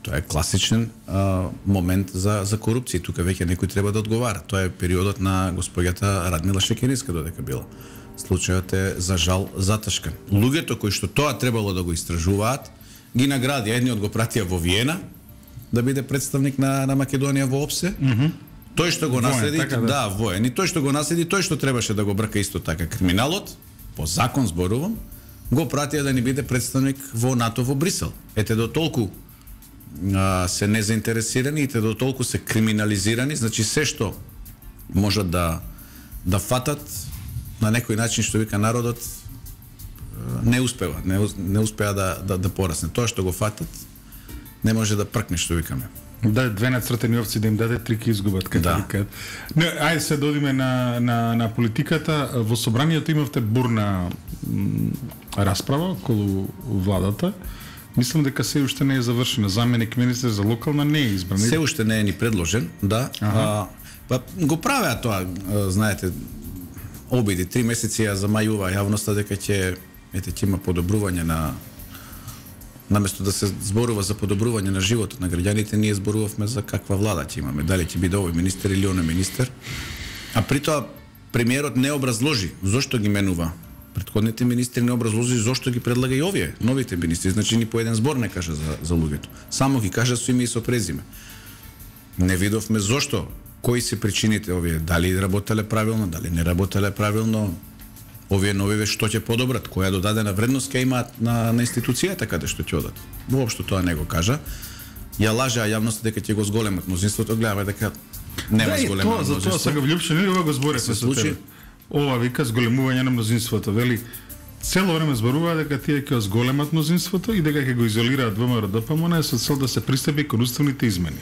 Тоа е класичен а, момент за за корупција. Тука веќе некој треба да одговара. Тоа е периодот на госпоѓата Радмила Шекеринска додека била. Случајот е за жал затешкан. Луѓето кои што тоа требало да го истражуваат, ги награди. Едниот го пратија во Виена да биде представник на на Македонија во ОПСЕ. Mm -hmm. Тој што го наследи, воен, така, да. да, воен, и тој што го наследи, тој што требаше да го брка исто така криминалот, по закон зборувам, го пратија да ни биде представник во НАТО во Брисел. Ете до толку а, се незаинтересирани, ете до толку се криминализирани, значи се што можат да да фатат на некој начин, што вика народот, не успева, не, не успеа да, да, да порасне. Тоа што го фатат, не може да пркне, што викаме. Да, две нацртени овци да им даде, три ки изгубат, како да викаат. Не, ајде се додиме на, на, на политиката. Во собранието имавте бурна м, расправа околу владата. Мислам дека се уште не е завршена. Заменик министер за локална не е избран. Се уште не е ни предложен, да. А, па го правеа тоа, знаете, обиди, три месеци ја замајува јавноста дека ќе ете ќе има подобрување на наместо да се зборува за подобрување на животот на граѓаните, ние зборувавме за каква влада ќе имаме, дали ќе биде овој министер или оној министер. А при тоа премиерот не образложи зошто ги менува претходните министри, не образложи зошто ги предлага и овие новите министри, значи ни по еден збор не кажа за за луѓето. Само ги кажа со име и со презиме. Не видовме зошто, кои се причините овие, дали работеле правилно, дали не работеле правилно, овие новиве што ќе подобрат, која додадена вредност ќе имаат на, на институцијата каде што ќе одат. Воопшто тоа не го кажа. Ја лажа јавноста дека ќе го зголемат мнозинството, гледаме дека нема да, зголемено мнозинство. За тоа сега Вљупче, ова го зборевме со тебе. Ова вика зголемување на мнозинството, вели цело време зборува дека тие ќе зголемат мнозинството и дека ќе го изолираат ВМРО Д П М Н со цел да се пристапи кон уставните измени.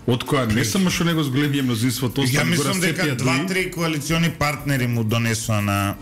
Од која не само што него зголемија мнозинството, ја мислам дека два-три коалициони партнери му донесоа на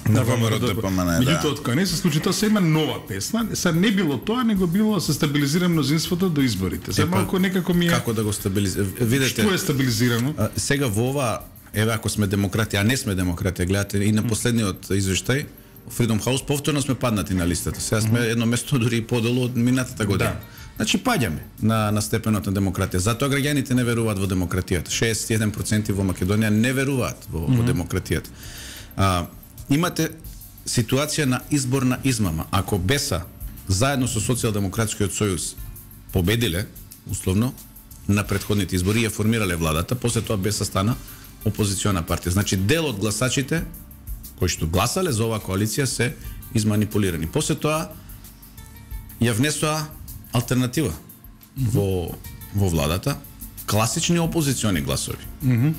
на ВМРО Д П М Н. Меѓутоа, од која не се случи тоа, се има нова песна. Са не било тоа, него било се стабилизира мнозинството до изборите. Се малку некако ми е како да го стабилизира. Видете, што е стабилизирано? А, сега во ова, еве ако сме демократи, а не сме демократи, гледате и на последниот извештај Freedom House повторно сме паднати на листата. Сега сме едно место дури и подолу од минатата година. Да. Значи паѓаме на на степенот на демократија. Затоа граѓаните не веруваат во демократијата. шеесет и еден проценти во Македонија не веруваат во, mm -hmm. во демократијата. А, имате ситуација на изборна измама. Ако Беса заедно со Социјалдемократскиот сојуз победиле условно на претходните избори и ја формирале владата, после тоа Беса стана опозициона партија. Значи дел од гласачите кои што гласале за оваа коалиција се изманипулирани. После тоа ја внесоа алтернатива mm -hmm. во во владата, класични опозициони гласови. Mm -hmm.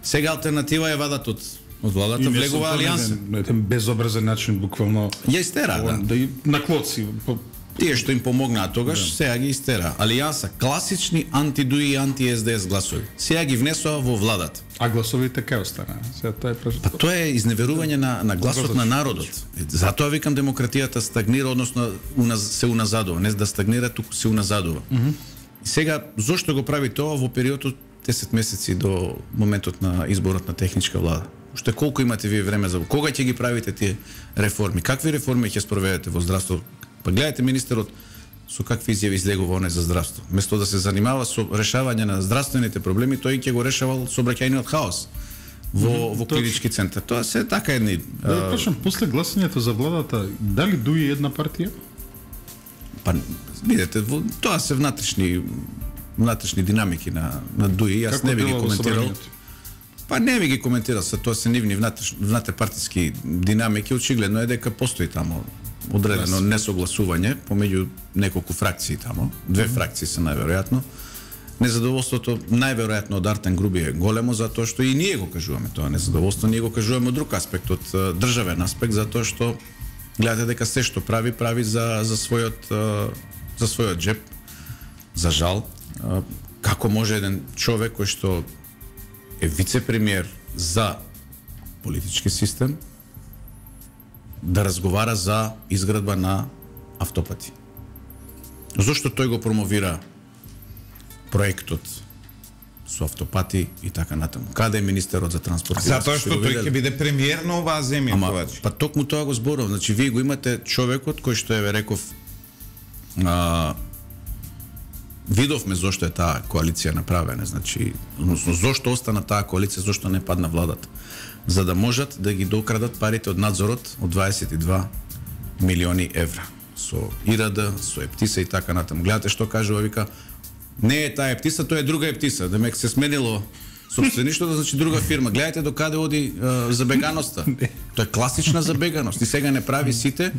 Сега алтернатива ја вадат од од владата, влегува алијанса. На еден безобразен начин буквално ја истера, да. Да на клоци. Тие што им помогнаа тогаш, да. Сега ги истера. Алијанса, класични анти-ДУИ и анти-Ес Де Ес гласови. Сега ги внесоа во владата. А гласовите кај останаа? Сега тоа е Па тоа е изневерување на на гласот на народот. Затоа викам демократијата стагнира, односно уназ, се уназадува, не да стагнира, туку се уназадува. Mm -hmm. Сега зошто го прави тоа во периодот десет месеци до моментот на изборот на техничка влада? Уште колку имате вие време за кога ќе ги правите тие реформи? Какви реформи ќе спроведете во здравство? Па гледате министерот со какви изјави излегува оне за здравство. Место да се занимава со решавање на здравствените проблеми, тој ќе го решавал сообраќајниот хаос во mm -hmm, во клинички центар. Тоа се така едни. Да кажам, после гласањето за владата, дали ДУИ една партија? Па видете, тоа се внатрешни внатрешни динамики на на ДУИ, јас Како не би ги коментирал. Па не би ги коментирал, се тоа се нивни внатрешпартиски динамики, очигледно е дека постои тамо одредено несогласување помеѓу неколку фракции тамо, две фракции се најверојатно. Незадоволството најверојатно од Артен Груби е големо затоа што и ние го кажуваме тоа незадоволство, ние го кажуваме од друг аспект, од државен аспект, затоа што гледате дека се што прави прави за за својот за својот џеп. За жал, како може еден човек кој што е вице-премиер за политички систем да разговара за изградба на автопати. Зошто тој го промовира проектот со автопати и така натаму? Каде е министерот за транспорт? Затоа што тој ќе биде премиер на оваа земја. Ама, па токму тоа го зборувам. Значи вие го имате човекот кој што еве реков, а, видовме зошто е таа коалиција направена, значи, односно зошто остана таа коалиција, зошто не падна владата, за да можат да ги докрадат парите од надзорот од дваесет и два милиони евра со И Р Д, со Ептиса и така натаму. Гледате што кажува, вика, не е таа Ептиса, тоа е друга Ептиса, демек се сменило собствеништвото, значи друга фирма. Гледате до каде оди е, забеганоста. Тоа е класична забеганост. И сега не прави сите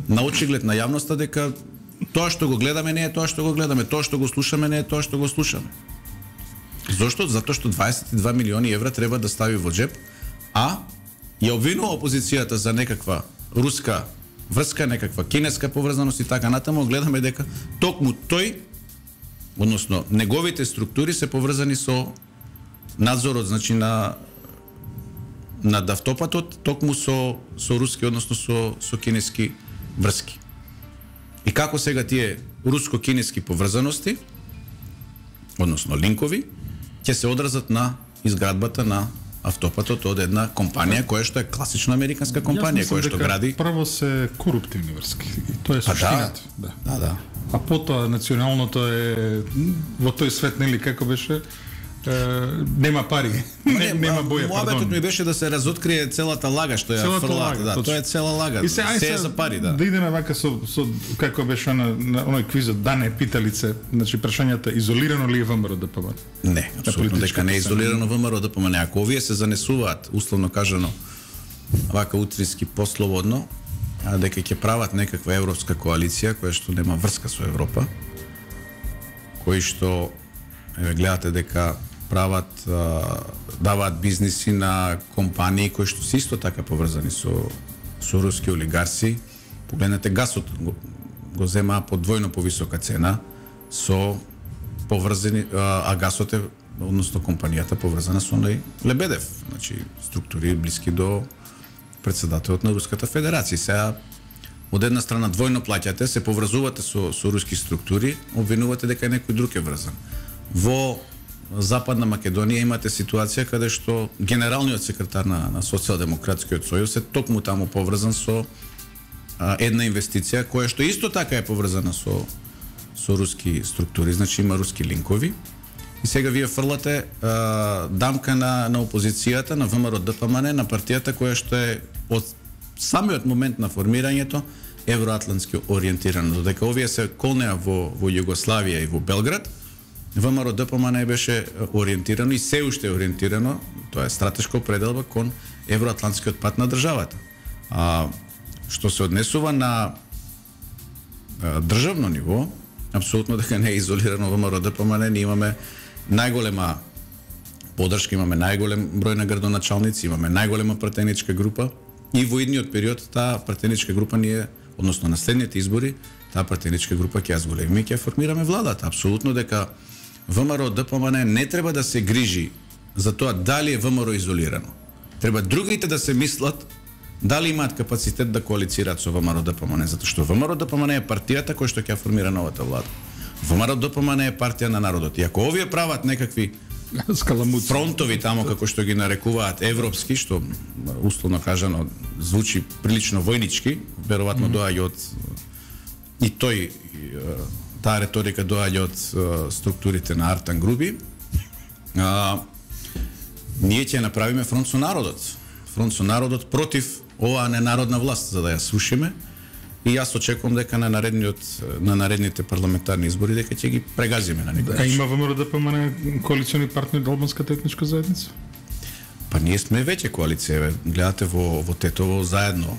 на очиглед на јавноста дека тоа што го гледаме не е тоа што го гледаме, тоа што го слушаме не е тоа што го слушаме. Зошто? Затоа што дваесет и два милиони евра треба да стави во джеп, а ја обвинува опозицијата за некаква руска врска, некаква кинеска поврзаност и така натаму. Гледаме дека токму тој, односно неговите структури се поврзани со надзорот, значи на над автопатот, токму со со руски, односно со со кинески врски. И како сега тие руско-кинески поврзаности, односно линкови, ќе се одразат на изградбата на автопатот од една компанија која што е класична американска компанија, која што гради. Прво се коруптивни врски. И тоа е Па суштината. да, да, да. А потоа националното е во тој свет, нели како беше, е, нема пари, не, нема боја, пардон. Муабетот ми беше да се разоткрие целата лага што ја Целата фрлаат, лага, да, точно. тоа е цела лага. И се, ај се е се за пари, да. Да идеме вака со, со како беше на, на оној квизот, да не питалице, значи прашањата изолирано ли е ВМРО ДПМН? Не, апсолутно дека не е изолирано ВМРО ДПМН. Ако овие се занесуваат, условно кажано, вака утрински послободно, а дека ќе прават некаква европска коалиција која што нема врска со Европа, кои што еве гледате дека прават а, даваат бизниси на компании кои што се исто така поврзани со со руски олигарси. Погледнете гасот го, го земаа по двојно повисока цена со поврзани а, а гасот е, односно компанијата поврзана со оној Лебедев, значи структури блиски до председателот на Руската Федерација. Сега од една страна двојно плаќате, се поврзувате со со руски структури, обвинувате дека некој друг е врзан. Во Западна Македонија имате ситуација каде што генералниот секретар на, на Социјалдемократскиот сојуз е токму таму поврзан со а, една инвестиција која што исто така е поврзана со со руски структури, значи има руски линкови. И сега вие фрлате а, дамка на на опозицијата, на ВМРО ДПМН, на партијата која што е од самиот момент на формирањето евроатлантски ориентирана. Додека овие се колнеа во во Југославија и во Белград, ВМРО ДПМН беше ориентирано и се уште е ориентирано, тоа е стратешка определба кон евроатлантскиот пат на државата. А што се однесува на а, државно ниво, апсолутно дека не е изолирано ВМРО ДПМН, ние имаме најголема поддршка, имаме најголем број на градоначалници, имаме најголема пратеничка група и во идниот период таа пратеничка група ние, односно на следните избори, таа пратеничка група ќе ја зголемиме и ќе формираме владата. Апсолутно дека ВМРО ДПМН не треба да се грижи за тоа дали е ВМРО изолирано. Треба другите да се мислат дали имаат капацитет да коалицираат со ВМРО ДПМН, затоа што ВМРО ДПМН е партијата која што ќе формира новата влада. ВМРО ДПМН е партија на народот. И ако овие прават некакви скаламуци, фронтови таму како што ги нарекуваат европски, што условно кажано звучи прилично војнички, веројатно доаѓа од и тој таа реторика доаѓа од структурите на Артан Груби. А, ние ќе направиме фронт со народот. Фронт со народот против оваа ненародна власт, за да ја слушаме. И јас очекувам дека на наредниот на наредните парламентарни избори дека ќе ги прегазиме на некој начин. А има ВМРО ДПМН коалициони партнери од албанската етничка заедница? Па ние сме веќе коалиција, гледате во во Тетово заедно.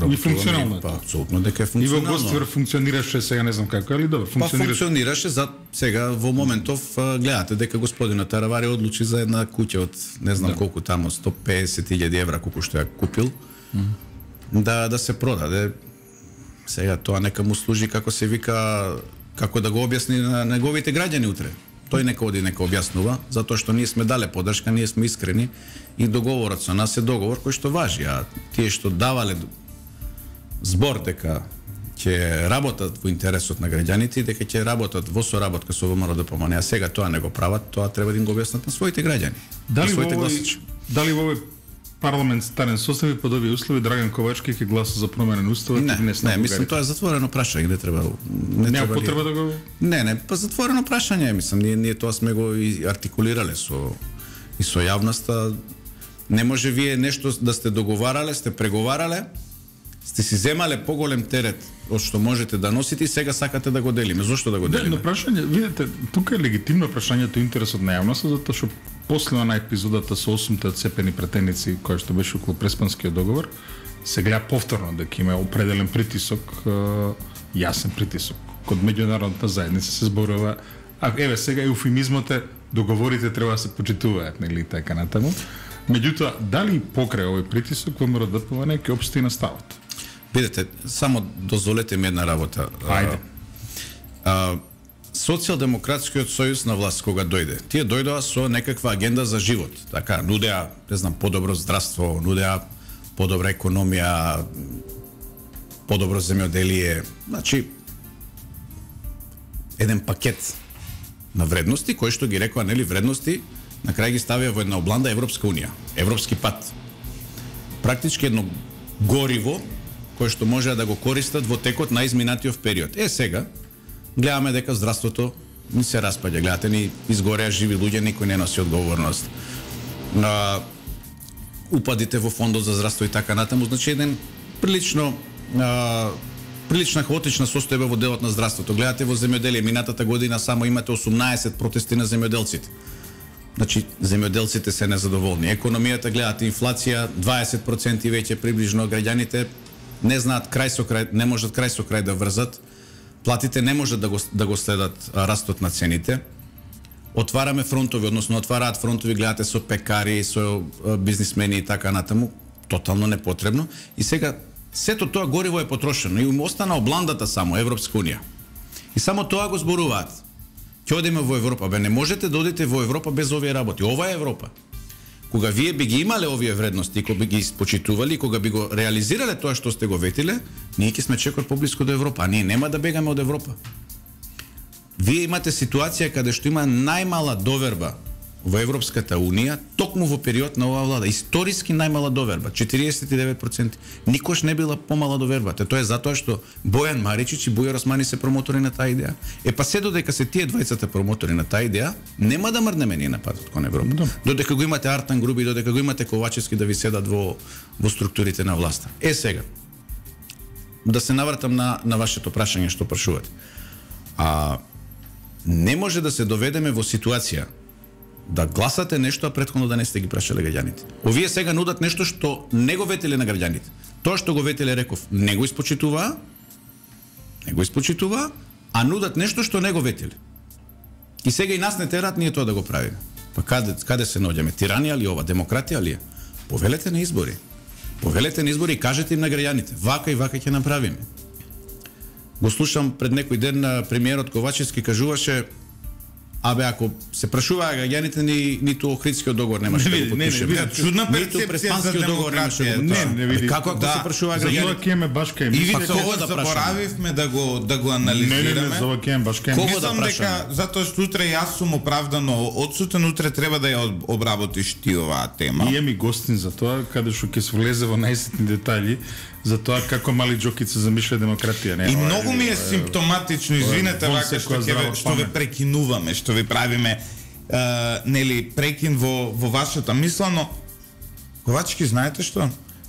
И функционално. Па апсолутно дека е И функционално. во Гостивар функционираше, сега не знам како, али добро, функционираше. Па функционираше за сега во моментов гледате дека господинот Таравари одлучи за една куќа од не знам да. колку таму сто песет илјади евра колку што ја купил. Mm -hmm. Да да се продаде. Сега тоа нека му служи како се вика, како да го објасни на неговите граѓани утре. Тој нека оди нека објаснува, затоа што ние сме дале поддршка, ние сме искрени и договорот со нас е договор кој што важи, а тие што давале збор дека ќе работат во интересот на граѓаните и дека ќе работат во соработка со ВМРО ДПМН, а сега тоа не го прават, тоа треба да им го објаснат на своите граѓани. Дали во овој, дали во овој парламентарен состав и под овие услови Драган Ковачки ќе гласа за промена на уставот? Не, не, не мислам тоа е затворено прашање, не треба не треба потреба да го Не, не, па затворено прашање, мислам, ние ние тоа сме го и артикулирале со и со јавноста. Не може вие нешто да сте договарале, сте преговарале, сте си земале поголем терет од што можете да носите и сега сакате да го делиме. Зошто да го делиме? Не, но прашање, видите, тука е легитимно прашањето интересот на јавноста, затоа што после на епизодата со осумте одцепени претеници која што беше околу Преспанскиот договор, се гледа повторно дека има определен притисок, јасен притисок. Код меѓународната заедница се зборува, а еве сега еуфемизмот е договорите треба да се почитуваат, нели така натаму. Меѓутоа, дали покрај овој притисок ВМРО Д П В Н ќе опсти на ставот? Видете, само дозволете ми една работа. Ајде. А, Социјалдемократскиот сојуз на власт кога дојде, тие дојдоа со некаква агенда за живот. Така, нудеа, не знам, подобро здравство, нудеа подобра економија, подобро земјоделие, значи еден пакет на вредности кои што ги рекоа, нели, вредности, на крај ги ставија во една обланда Европска унија, европски пат. Практички едно гориво кое што може да го користат во текот на изминатиот период. Е сега гледаме дека здравството ни се распаѓа, гледате ни изгореа живи луѓе, никој не носи одговорност. На упадите во фондот за здравство и така натаму, значи еден прилично а, прилична хаотична состојба во делот на здравството. Гледате во земјоделие, минатата година само имате осумнаесет протести на земјоделците. Значи, земјоделците се незадоволни. Економијата, гледате, инфлација дваесет проценти веќе приближно, граѓаните не знаат крај со крај, не можат крај со крај да врзат. Платите не можат да го, да го следат а, растот на цените. Отвараме фронтови, односно отвараат фронтови, гледате со пекари, со а, бизнисмени и така натаму, тотално непотребно. И сега сето тоа гориво е потрошено и им остана обландата само Европска унија. И само тоа го зборуваат. Ќе одиме во Европа, бе не можете да одите во Европа без овие работи. Ова е Европа. Кога вие би ги имале овие вредности, кога би ги испочитували, кога би го реализирале тоа што сте го ветиле, ние ќе сме чекор поблиску до Европа, а ние нема да бегаме од Европа. Вие имате ситуација каде што има најмала доверба во Европската унија, токму во период на оваа влада, историски најмала доверба, четириесет и девет проценти. Никош не била помала довербата. Тоа е затоа што Бојан Маричич и Бујар Османи се промотори на таа идеја. Е па се додека се тие двајцата промотори на таа идеја, нема да мрднеме ние на патот кон Европа. Да. Додека го имате Артан Груби, додека го имате Ковачевски да ви седат во во структурите на власта. Е сега да се навратам на на вашето прашање што прашувате. А не може да се доведеме во ситуација да гласате нешто, а претходно да не сте ги прашале граѓаните. Овие сега нудат нешто што не го ветеле на граѓаните. Тоа што го ветеле, реков, не го испочитуваа, не го испочитуваа, а нудат нешто што не го ветеле. И сега и нас не терат ние тоа да го правиме. Па каде, каде се наоѓаме? Тиранија ли ова? Демократија ли е? Повелете на избори. Повелете на избори и кажете им на граѓаните. Вака и вака ќе направиме. Го слушам пред некој ден на премиерот Ковачевски кажуваше: абе, ако се прашуваа граѓаните, ни ниту Охридскиот договор немаше да го подпишеме. Не, не, чудна ниту Преспанскиот договор немаше да го Не, не види. Како ако да, се прашуваа За тоа граѓаните? ќе ме баш кај И ми. видите кого кога да заборавивме да го да го Не, не, анализираме. не, за ова ќе ме баш кај ми. Кого да Мислам дека прашаме? затоа што утре јас сум оправдано одсутен, утре треба да ја об- обработиш ти оваа тема. И еми гостин за тоа, каде што ќе се влезе во најситни детали за тоа како мали џокица замишля демократија. Не, И ова е- многу ми е ова симптоматично, извинете, вон вака што секоја ќе здрава ве- што ве памет. прекинуваме, што ви правиме Uh, нели прекин во во вашата мисла, но Ковачки, знаете што?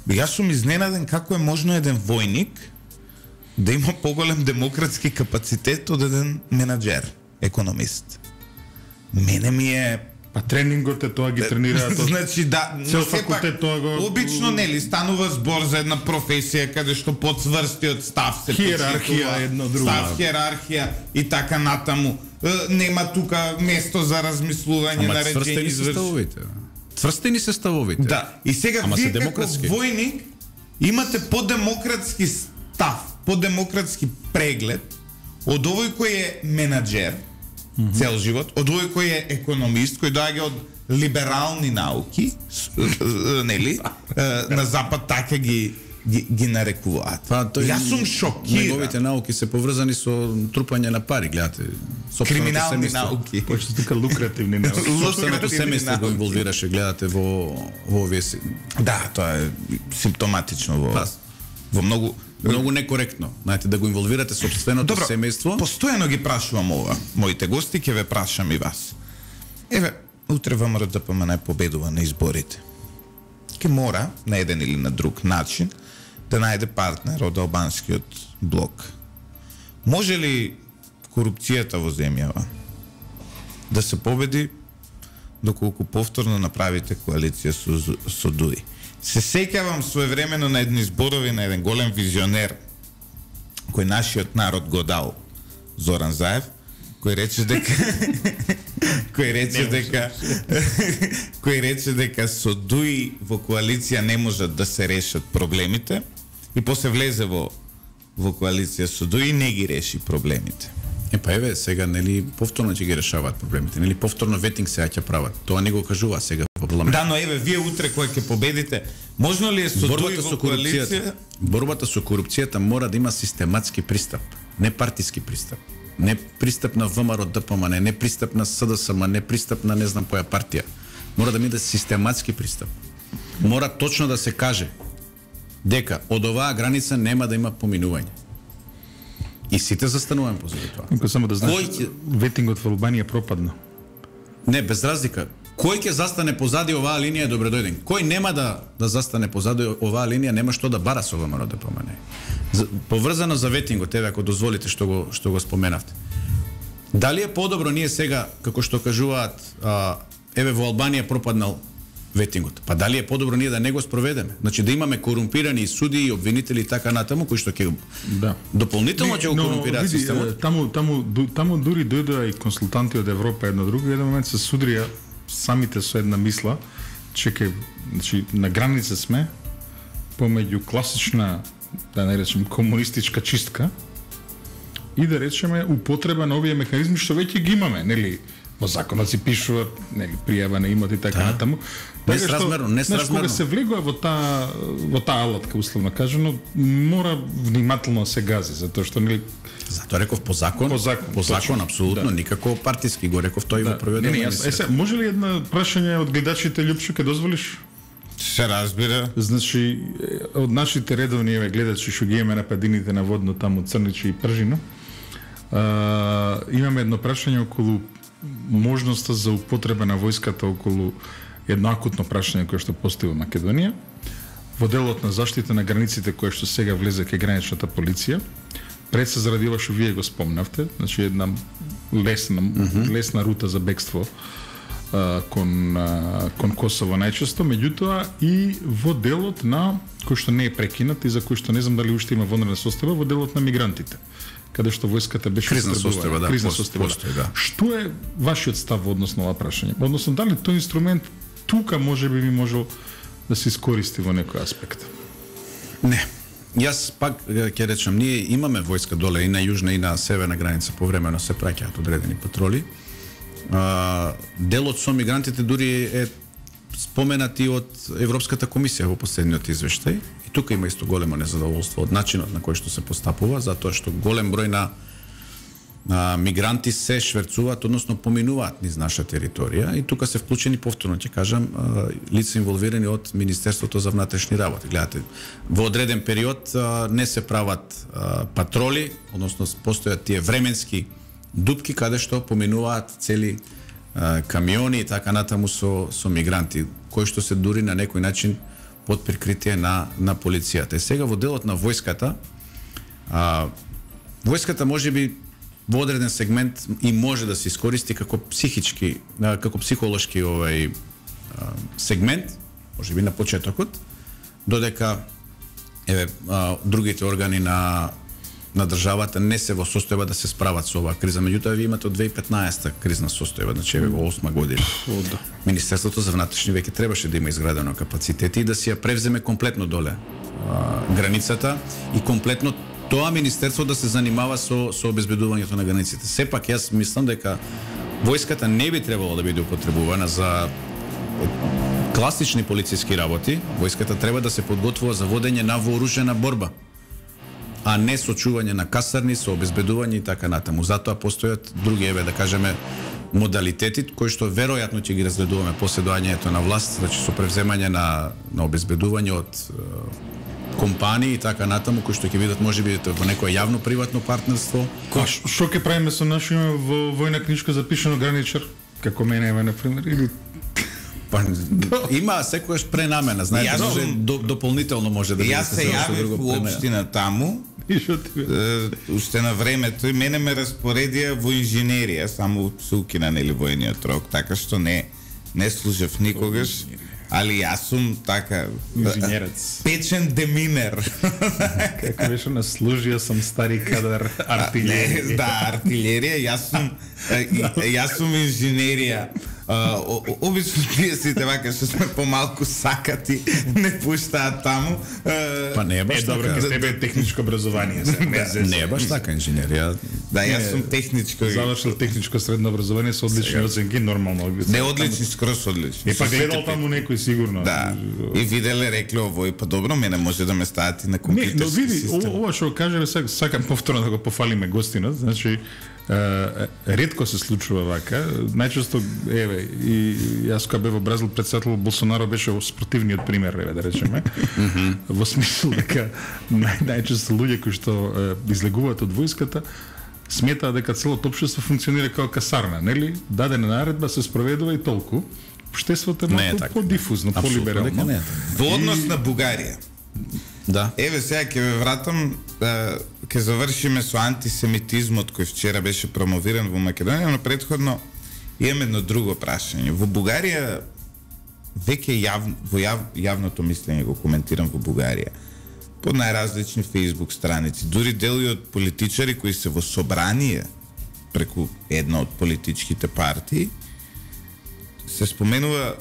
Јас сум изненаден како е можно еден војник да има поголем демократски капацитет од еден менаџер, економист. Мене ми е Па тренингот е тоа ги тренираат од значи да, цел но сепак, факултет тоа го- обично нели станува збор за една професија каде што подсврстиот став се Хиерархија почитува, едно друго. став, хиерархија и така натаму. Е, Нема тука место за размислување, Ама нареđење, цврстени се изврш... ставовите. Цврстени се ставовите. Да, и сега Ама вие се како демократски. војник имате подемократски став, подемократски преглед од овој кој е менаџер цел живот, од овој кој е економист, кој доаѓа од либерални науки, с- нели, е, на запад така ги ги, ги нарекуваат. Па тој Јас сум шокиран. Неговите науки се поврзани со трупање на пари, гледате. Сопственото Криминални семејство. науки. Почто тука лукративни науки. Сопственото Лукративни семејство го науки. инволвираше, гледате во во овие си. Да, тоа е симптоматично во Па, во многу Многу некоректно. Знаете, да го инволвирате сопственото Добро, семејство. постојано ги прашувам ова. Моите гости ќе ве прашам и вас. Еве, утре ВМРО Д П М Н победува на изборите. Ке мора на еден или на друг начин да најде партнер од албанскиот блок. Може ли корупцијата во земјава да се победи доколку повторно направите коалиција со, со ДУИ? Се сеќавам своевремено на едни зборови на еден голем визионер кој нашиот народ го дал, Зоран Заев, кој рече дека кој рече дека кој рече дека со ДУИ во коалиција не можат да се решат проблемите и после влезе во во коалиција со ДУИ и не ги реши проблемите. Е, па еве, сега, нели, повторно ќе ги решаваат проблемите, нели, повторно ветинг сега ќе прават. Тоа не го кажува сега во парламент. Да, но еве, вие утре кој ќе победите, можно ли е со ДУИ во коалиција? Борбата со корупцијата мора да има систематски пристап, не партиски пристап. Не пристап на ВМРО ДПМН, не пристап на СДСМ, не пристап на не знам која партија. Мора да биде систематски пристап. Мора точно да се каже дека од оваа граница нема да има поминување. И сите застануваме позади тоа. Ако само да знаеш, ќе... ветингот во Албанија пропадна. Не, без разлика. Кој ќе застане позади оваа линија е добредојден. Кој нема да да застане позади оваа линија нема што да бара со ВМРО ДПМН. Поврзано за ветингот, еве ако дозволите што го што го споменавте. Дали е подобро ние сега, како што кажуваат, а, еве во Албанија пропаднал ветингот. Па дали е подобро ние да не го спроведеме? Значи да имаме корумпирани судии, обвинители и така натаму кои што ќе да дополнително ќе го корумпираат системот. Таму таму таму дури дојдоа и консултанти од Европа едно друго, еден момент се судрија самите со една мисла, че ке, значи на граница сме помеѓу класична, да не речем, комунистичка чистка и да речеме употреба на овие механизми што веќе ги имаме, нели? Во законот си пишува, нели, пријава на имот и така да. Натаму. Несразмерно, несразмерно. Кога се влегува во таа во таа алатка, условно кажано, мора внимателно да се гази, затоа што нели затоа реков по закон, по закон, по закон апсолутно, да. Никако партиски го реков тој да. Во проведено. Не, не, јас, е, може ли една прашање од гледачите, Љупчо, ке дозволиш? Се разбира. Значи, од нашите редовни еве гледачи што ги имаме на падините на водно таму Црничи и Пржино, а, имаме едно прашање околу можноста за употреба на војската околу едно акутно прашање кое што постои во Македонија, во делот на заштита на границите кое што сега влезе кај граничната полиција, пред се заради ова што вие го спомнавте, значи една лесна mm -hmm. лесна рута за бегство а, кон а, кон Косово најчесто, меѓутоа и во делот на кој што не е прекинат и за кој што не знам дали уште има вонредна состојба, во делот на мигрантите, каде што војската беше кризна состојба, да, кризна пост, состојба. Постои, да. Што е вашиот став односно ова прашање? Односно дали тој инструмент тука можеби би можел да се искористи во некој аспект? Не. Јас пак ќе речам, ние имаме војска доле и на јужна и на северна граница, повремено се праќаат одредени патроли. А, делот со мигрантите дури е споменати од Европската комисија во последниот извештај. И тука има исто големо незадоволство од начинот на кој што се постапува, затоа што голем број на а, мигранти се шверцуваат, односно поминуваат низ наша територија и тука се вклучени повторно, ќе кажам, а, лица инволвирани од Министерството за внатрешни работи. Гледате, во одреден период а, не се прават а, патроли, односно постојат тие временски дупки каде што поминуваат цели а, камиони и така натаму со со мигранти, кои што се дури на некој начин под прикритие на на полицијата. И сега во делот на војската, а, војската можеби во одреден сегмент и може да се искористи како психички, како психолошки овај сегмент, можеби на почетокот, додека еве а, другите органи на на државата не се во состојба да се справат со оваа криза. Меѓутоа вие имате од две илјади и петнаесета кризна состојба, значи еве во осма година. О, да. Министерството за внатрешни веќе требаше да има изградено капацитети и да си ја превземе комплетно доле а, границата и комплетно тоа министерство да се занимава со со обезбедувањето на границите. Сепак јас мислам дека војската не би требало да биде употребувана за класични полициски работи. Војската треба да се подготвува за водење на вооружена борба, а не со чување на касарни, со обезбедување и така натаму. Затоа постојат други, еве да кажеме, модалитети кои што веројатно ќе ги разгледуваме после доаѓањето на власт, значи со превземање на на обезбедување од е, компании и така натаму, кои што ќе бидат можеби во некое јавно приватно партнерство. Што ќе правиме со нашиот во војна книжка запишано граничар, како мене ева на пример, или па, има секојаш пренамена, знаете, може до, дополнително може да биде. Јас се јавив во општина таму. И што ти бе? Уште на времето и мене ме распоредија во инженерија, само се укина нели војниот рок, така што не не служев никогаш. али јас сум така инженерец. Печен деминер. Како беше на служија сам стари кадар артилерија. Не, да, артилерија, јас сум јас сум инженерија. Uh, обично тие сите вака што сме помалку сакати не пуштаат таму. Uh, Па не е баш е, добро, така. ке тебе е техничко образование. Се, не, Не е баш така инженерија. Да, јас сум техничко. Завршил техничко средно образование со одлични оценки, нормално. Не одлични, скроз одлични. И па гледал таму некој сигурно. Да. И виделе, рекле овој, па добро, мене може да ме стават и на Не, но компјутерски види, систем. ова што кажеме сега, сакам повторно да го пофалиме гостинот, значи Uh, ретко се случува вака. Најчесто, еве, и јас кога бев во Бразил председател, Болсонаро беше спротивниот пример, еве да речеме. Mm -hmm. Во смисла дека нај, најчесто луѓе кои што uh, излегуваат од војската сметаат дека целото општество функционира како касарна, нели? Дадена наредба се спроведува и толку. Општеството е малку по-дифузно, по-либерално. Не е Во однос на Бугарија. Да. Еве сега ќе ве вратам, ќе завршиме со антисемитизмот кој вчера беше промовиран во Македонија, но претходно имам едно друго прашање. Во Бугарија веќе јав, во јав, јавното мислење го коментирам во Бугарија. По најразлични Facebook страници, дури дели од политичари кои се во собрание преку една од политичките партии, се споменува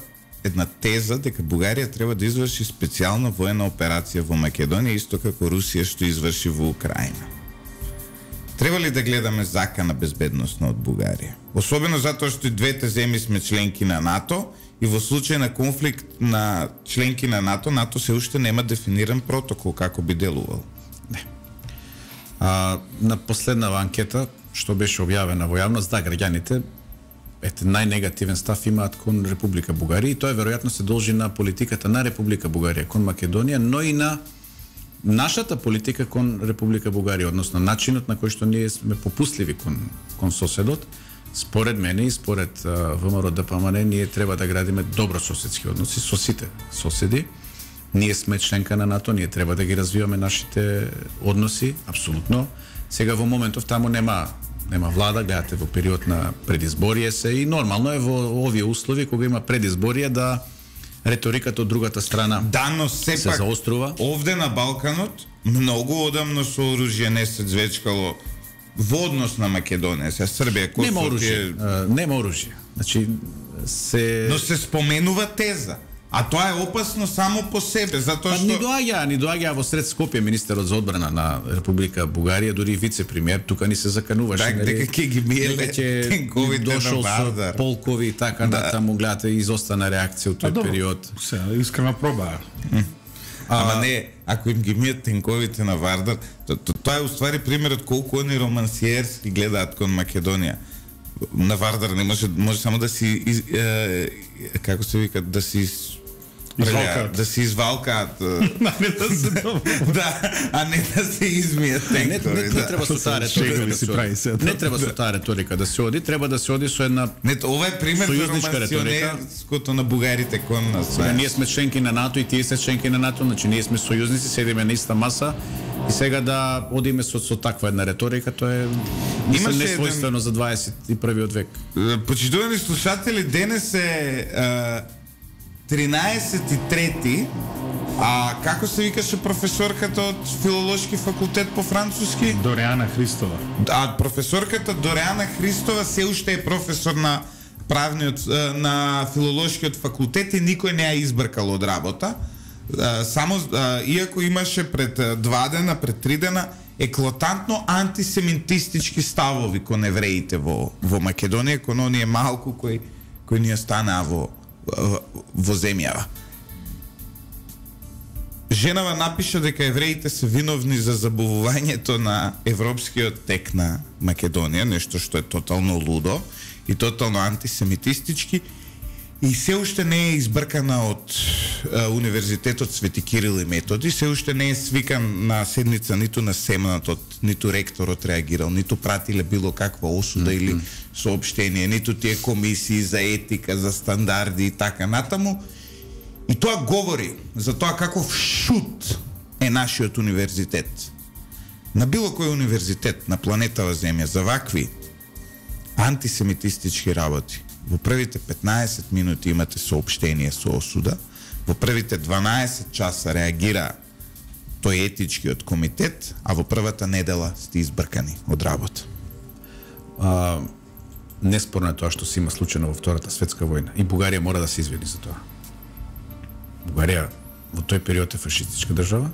една теза дека Бугарија треба да изврши специјална воена операција во Македонија, исто како Русија што изврши во Украина. Треба ли да гледаме закана безбедносна од Бугарија? Особено затоа што и двете земји сме членки на НАТО и во случај на конфликт на членки на НАТО, НАТО се уште нема дефиниран протокол како би делувал. Не. А, на последнава анкета што беше објавена во јавност, да, граѓаните ете најнегативен став имаат кон Република Бугарија и тоа веројатно се должи на политиката на Република Бугарија кон Македонија, но и на нашата политика кон Република Бугарија, односно начинот на кој што ние сме попустливи кон кон соседот. Според мене и според ВМРО-ДПМН ние треба да градиме добрососедски односи со сите соседи. Ние сме членка на НАТО, ние треба да ги развиваме нашите односи, апсолутно. Сега во моментов таму нема нема влада, гледате во период на предизборие се и нормално е во овие услови кога има предизборие да реториката од другата страна да, но сепак, се заострува. Овде на Балканот многу одамно со оружје не се звечкало во однос на Македонија, се Србија, Косово. Нема оружје, е... нема оружје. Значи се но се споменува теза. А тоа е опасно само по себе, затоа па, што ни доаѓа, ни доаѓа во сред Скопје министерот за одбрана на Република Бугарија, дури вице-премиер, тука ни се закануваше. Так, дека ќе ги миеле тенковите на Вардар. Полкови и така да. Натаму, гледате, изостана реакција од тој период. Се, искрена проба. Ама не, ако им ги мијат тенковите на Вардар, то, то, тоа е уствари примерот колку они романсиерски гледаат кон Македонија. На Вардар не може, може само да си из, е, како се вика, да си Извалкаат. Да се извалкаат. Не да се да, а не да се измијат Не, не, тенкови. не, да. не треба со таа реторика да си се прави оди. се. Не треба со таа реторика да се оди, треба да се оди со една Не, ова е пример за сојузничка реторика. романсионерското на бугарите кон нас. Сега ние сме членки на НАТО и тие се членки на НАТО, значи ние сме сојузници, седиме на иста маса и сега да одиме со, со таква една реторика, тоа е мислам несвојствено за дваесет и првиот век. Почитувани слушатели, денес е а, тринаесет и трети, а како се викаше професорката од филолошки факултет по француски? Дореана Христова. А професорката Дореана Христова се уште е професор на правниот на филолошкиот факултет и никој не ја избркал од работа. Само иако имаше пред два дена, пред три дена еклатантно антисемитистички ставови кон евреите во во Македонија, кон оние малку кои кои ни останаа во во земјава. Женава напиша дека евреите се виновни за забавувањето на европскиот тек на Македонија, нешто што е тотално лудо и тотално антисемитистички, и се уште не е избркана од а, Универзитетот Свети Кирил и Методи, се уште не е свикан на седница ниту на Семнатот, ниту ректорот реагирал, ниту пратиле било каква осуда mm -hmm. или соопштение, ниту тие комисии за етика, за стандарди и така натаму. И тоа говори за тоа каков шут е нашиот универзитет. На било кој универзитет на планетава Земја за вакви антисемитистички работи во првите петнаесет минути имате соопштение со осуда, Во првите дванаесет часа реагира тој етичкиот комитет, а во првата недела сте избркани од работа. А, неспорно е тоа што се има случајно во Втората светска војна и Бугарија мора да се извини за тоа. Бугарија во тој период е фашистичка држава,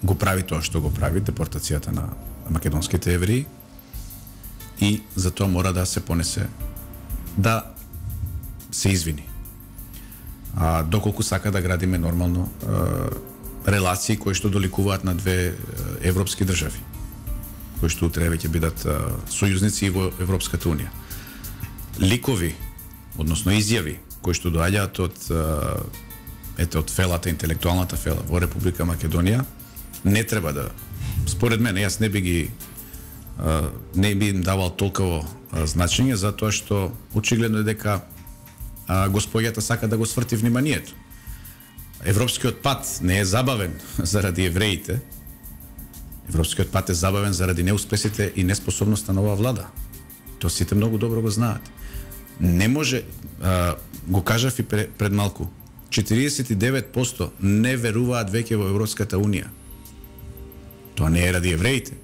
го прави тоа што го прави, депортацијата на македонските евреи, и за тоа мора да се понесе, да се извини. А доколку сака да градиме нормално е, релации кои што доликуваат на две европски држави, кои што утре веќе бидат е, сојузници во Европската унија. Ликови, односно изјави кои што доаѓаат од е, ете од фелата, интелектуалната фела во Република Македонија, не треба да, според мене, јас не би ги е, не би им давал толково е, значење, затоа што очигледно е дека а, господјата сака да го сврти вниманието. Европскиот пат не е забавен заради евреите. Европскиот пат е забавен заради неуспесите и неспособноста на оваа влада. Тоа сите многу добро го знаат. Не може, а, го кажав и пред малку, четиридесет и девет проценти не веруваат веќе во Европската унија. Тоа не е ради евреите.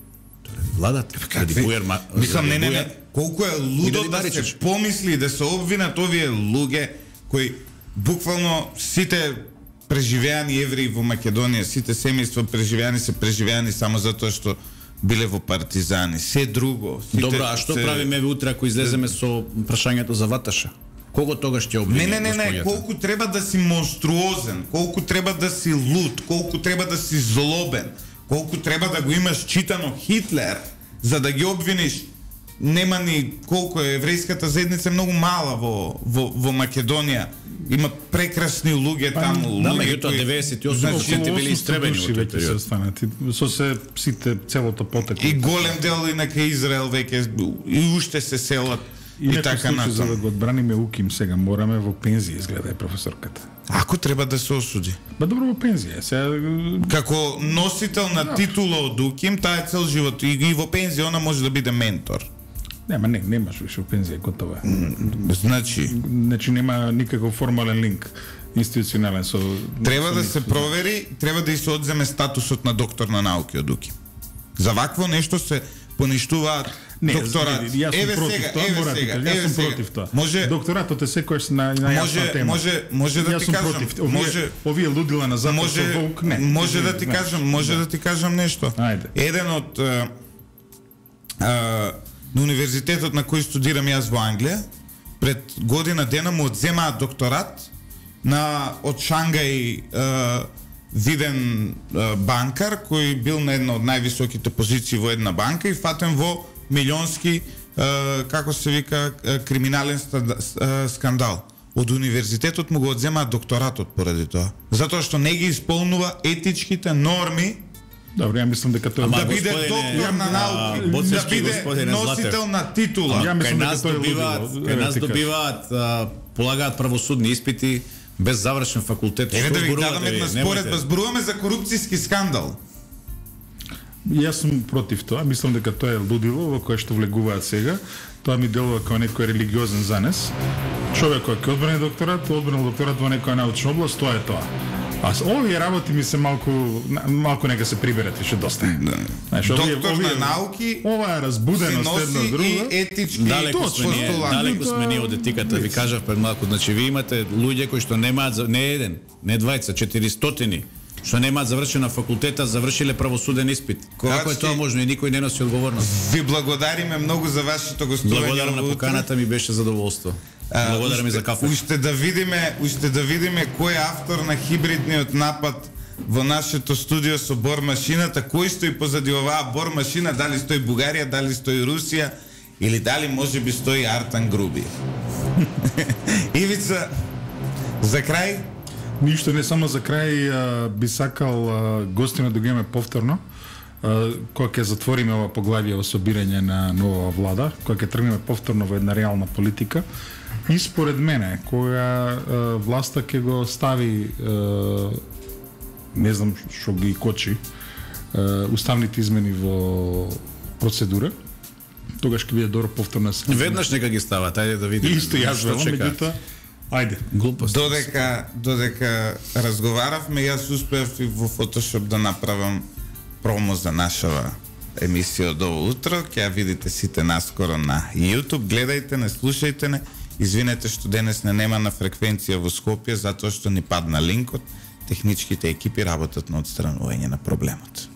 Тоа е ради владата. Ради Бујар, мислам, не, не, не. Колку е лудо да се помисли, да се обвинат овие луѓе кои буквално сите преживеани евреи во Македонија, сите семејства преживеани се преживеани само затоа што биле во партизани. Се друго. Сите, добро, а што се... правиме утре ако излеземе со прашањето за Ваташа? Кого тогаш ќе обвини? Не, не, не, не, колку треба да си монструозен, колку треба да си луд, колку треба да си злобен, колку треба да го имаш читано Хитлер, за да ги обвиниш. Нема ни колку е еврејската заедница многу мала во во во Македонија. Има прекрасни луѓе таму, да, луѓе меѓутоа деветдесет и осум значи, проценти били истребени во тој период. Станати, со се сите целото потекло. И голем дел и на кај Израел веќе и уште се селат и, и така натаму. За да го одбраниме УКИМ сега мораме во пензија, изгледа е професорката. Ако треба да се осуди. Ба добро во пензија, сега како носител на да. Титула од УКИМ, таа е цел живот и, и во пензија она може да биде ментор. Нема, не, немаш више во пензија, готово е. Значи, значи нема никаков формален линк институционален со треба со да се провери, треба да и се одземе статусот на доктор на науки од УКИМ. За вакво нешто се поништуваат докторат. Не, јас сум против тоа, мора да кажам, јас сум против тоа. Може, докторатот е секојаш на на јасна тема. Може, може да ти кажам, овие, може овие лудила на запад може, со волк, не. Може да ти кажам, може да ти кажам нешто. Ајде. Еден од а, а, на универзитетот на кој студирам јас во Англија, пред година дена му одземаат докторат на од Шангај а, виден а, банкар кој бил на една од највисоките позиции во една банка и фатен во милионски а, како се вика криминален скандал. Од универзитетот му го одземаат докторатот поради тоа. Затоа што не ги исполнува етичките норми. Добро, ја мислам дека тоа да биде доктор на науки, да биде носител на титула. Ја мислам дека тоа добиваат, кај нас добиваат, полагаат правосудни испити без завршен факултет. Еве да ви дадам една споредба, зборуваме за корупцијски скандал. Јас сум против тоа, мислам дека тоа е лудило во кое што влегуваат сега. Тоа ми делува како некој религиозен занес. Човек кој ќе одбрани докторат, одбранил докторат во некоја научна област, тоа е тоа. А овие работи ми се малку малку нека се приберат више доста. Да. Знаеш, овие, доктор овие, на науки, ова е разбуденост една друга и етички далеко сме ние, далеко сме ние од етиката. Ви кажав пред малку, значи ви имате луѓе кои што немаат не еден, не двајца, четиристотини што немаат завршена факултета, завршиле правосуден испит. Како е тоа можно и никој не носи одговорност? Ви благодариме многу за вашето гостување. Благодарам на поканата, ми беше задоволство. Благодарам и за кафе. Уште да видиме, уште да видиме кој е автор на хибридниот напад во нашето студио со бормашината, кој стои позади оваа бормашина, дали стои Бугарија, дали стои Русија или дали можеби стои Артан Груби. Ивица, за крај? Ништо, не само за крај, а, би сакал а, гостина да го имаме повторно, а, кога ќе затвориме ова поглавје во собирање на нова влада, кога ќе тргнеме повторно во една реална политика. И според мене, кога а, власта ќе го стави, а, не знам што ги кочи, а, уставните измени во процедура, тогаш ќе биде добро повторно. Веднаш нека ги стават, ајде да видиме. Исто јас велам, меѓутоа Ајде. Глупост. Додека додека разговаравме, јас успеав и во Photoshop да направам промо за нашава емисија од ово утро. Ќе ја видите сите наскоро на YouTube. Гледајте, не слушајте не. Извинете што денес не нема на фреквенција во Скопје, затоа што ни падна линкот. Техничките екипи работат на отстранување на проблемот.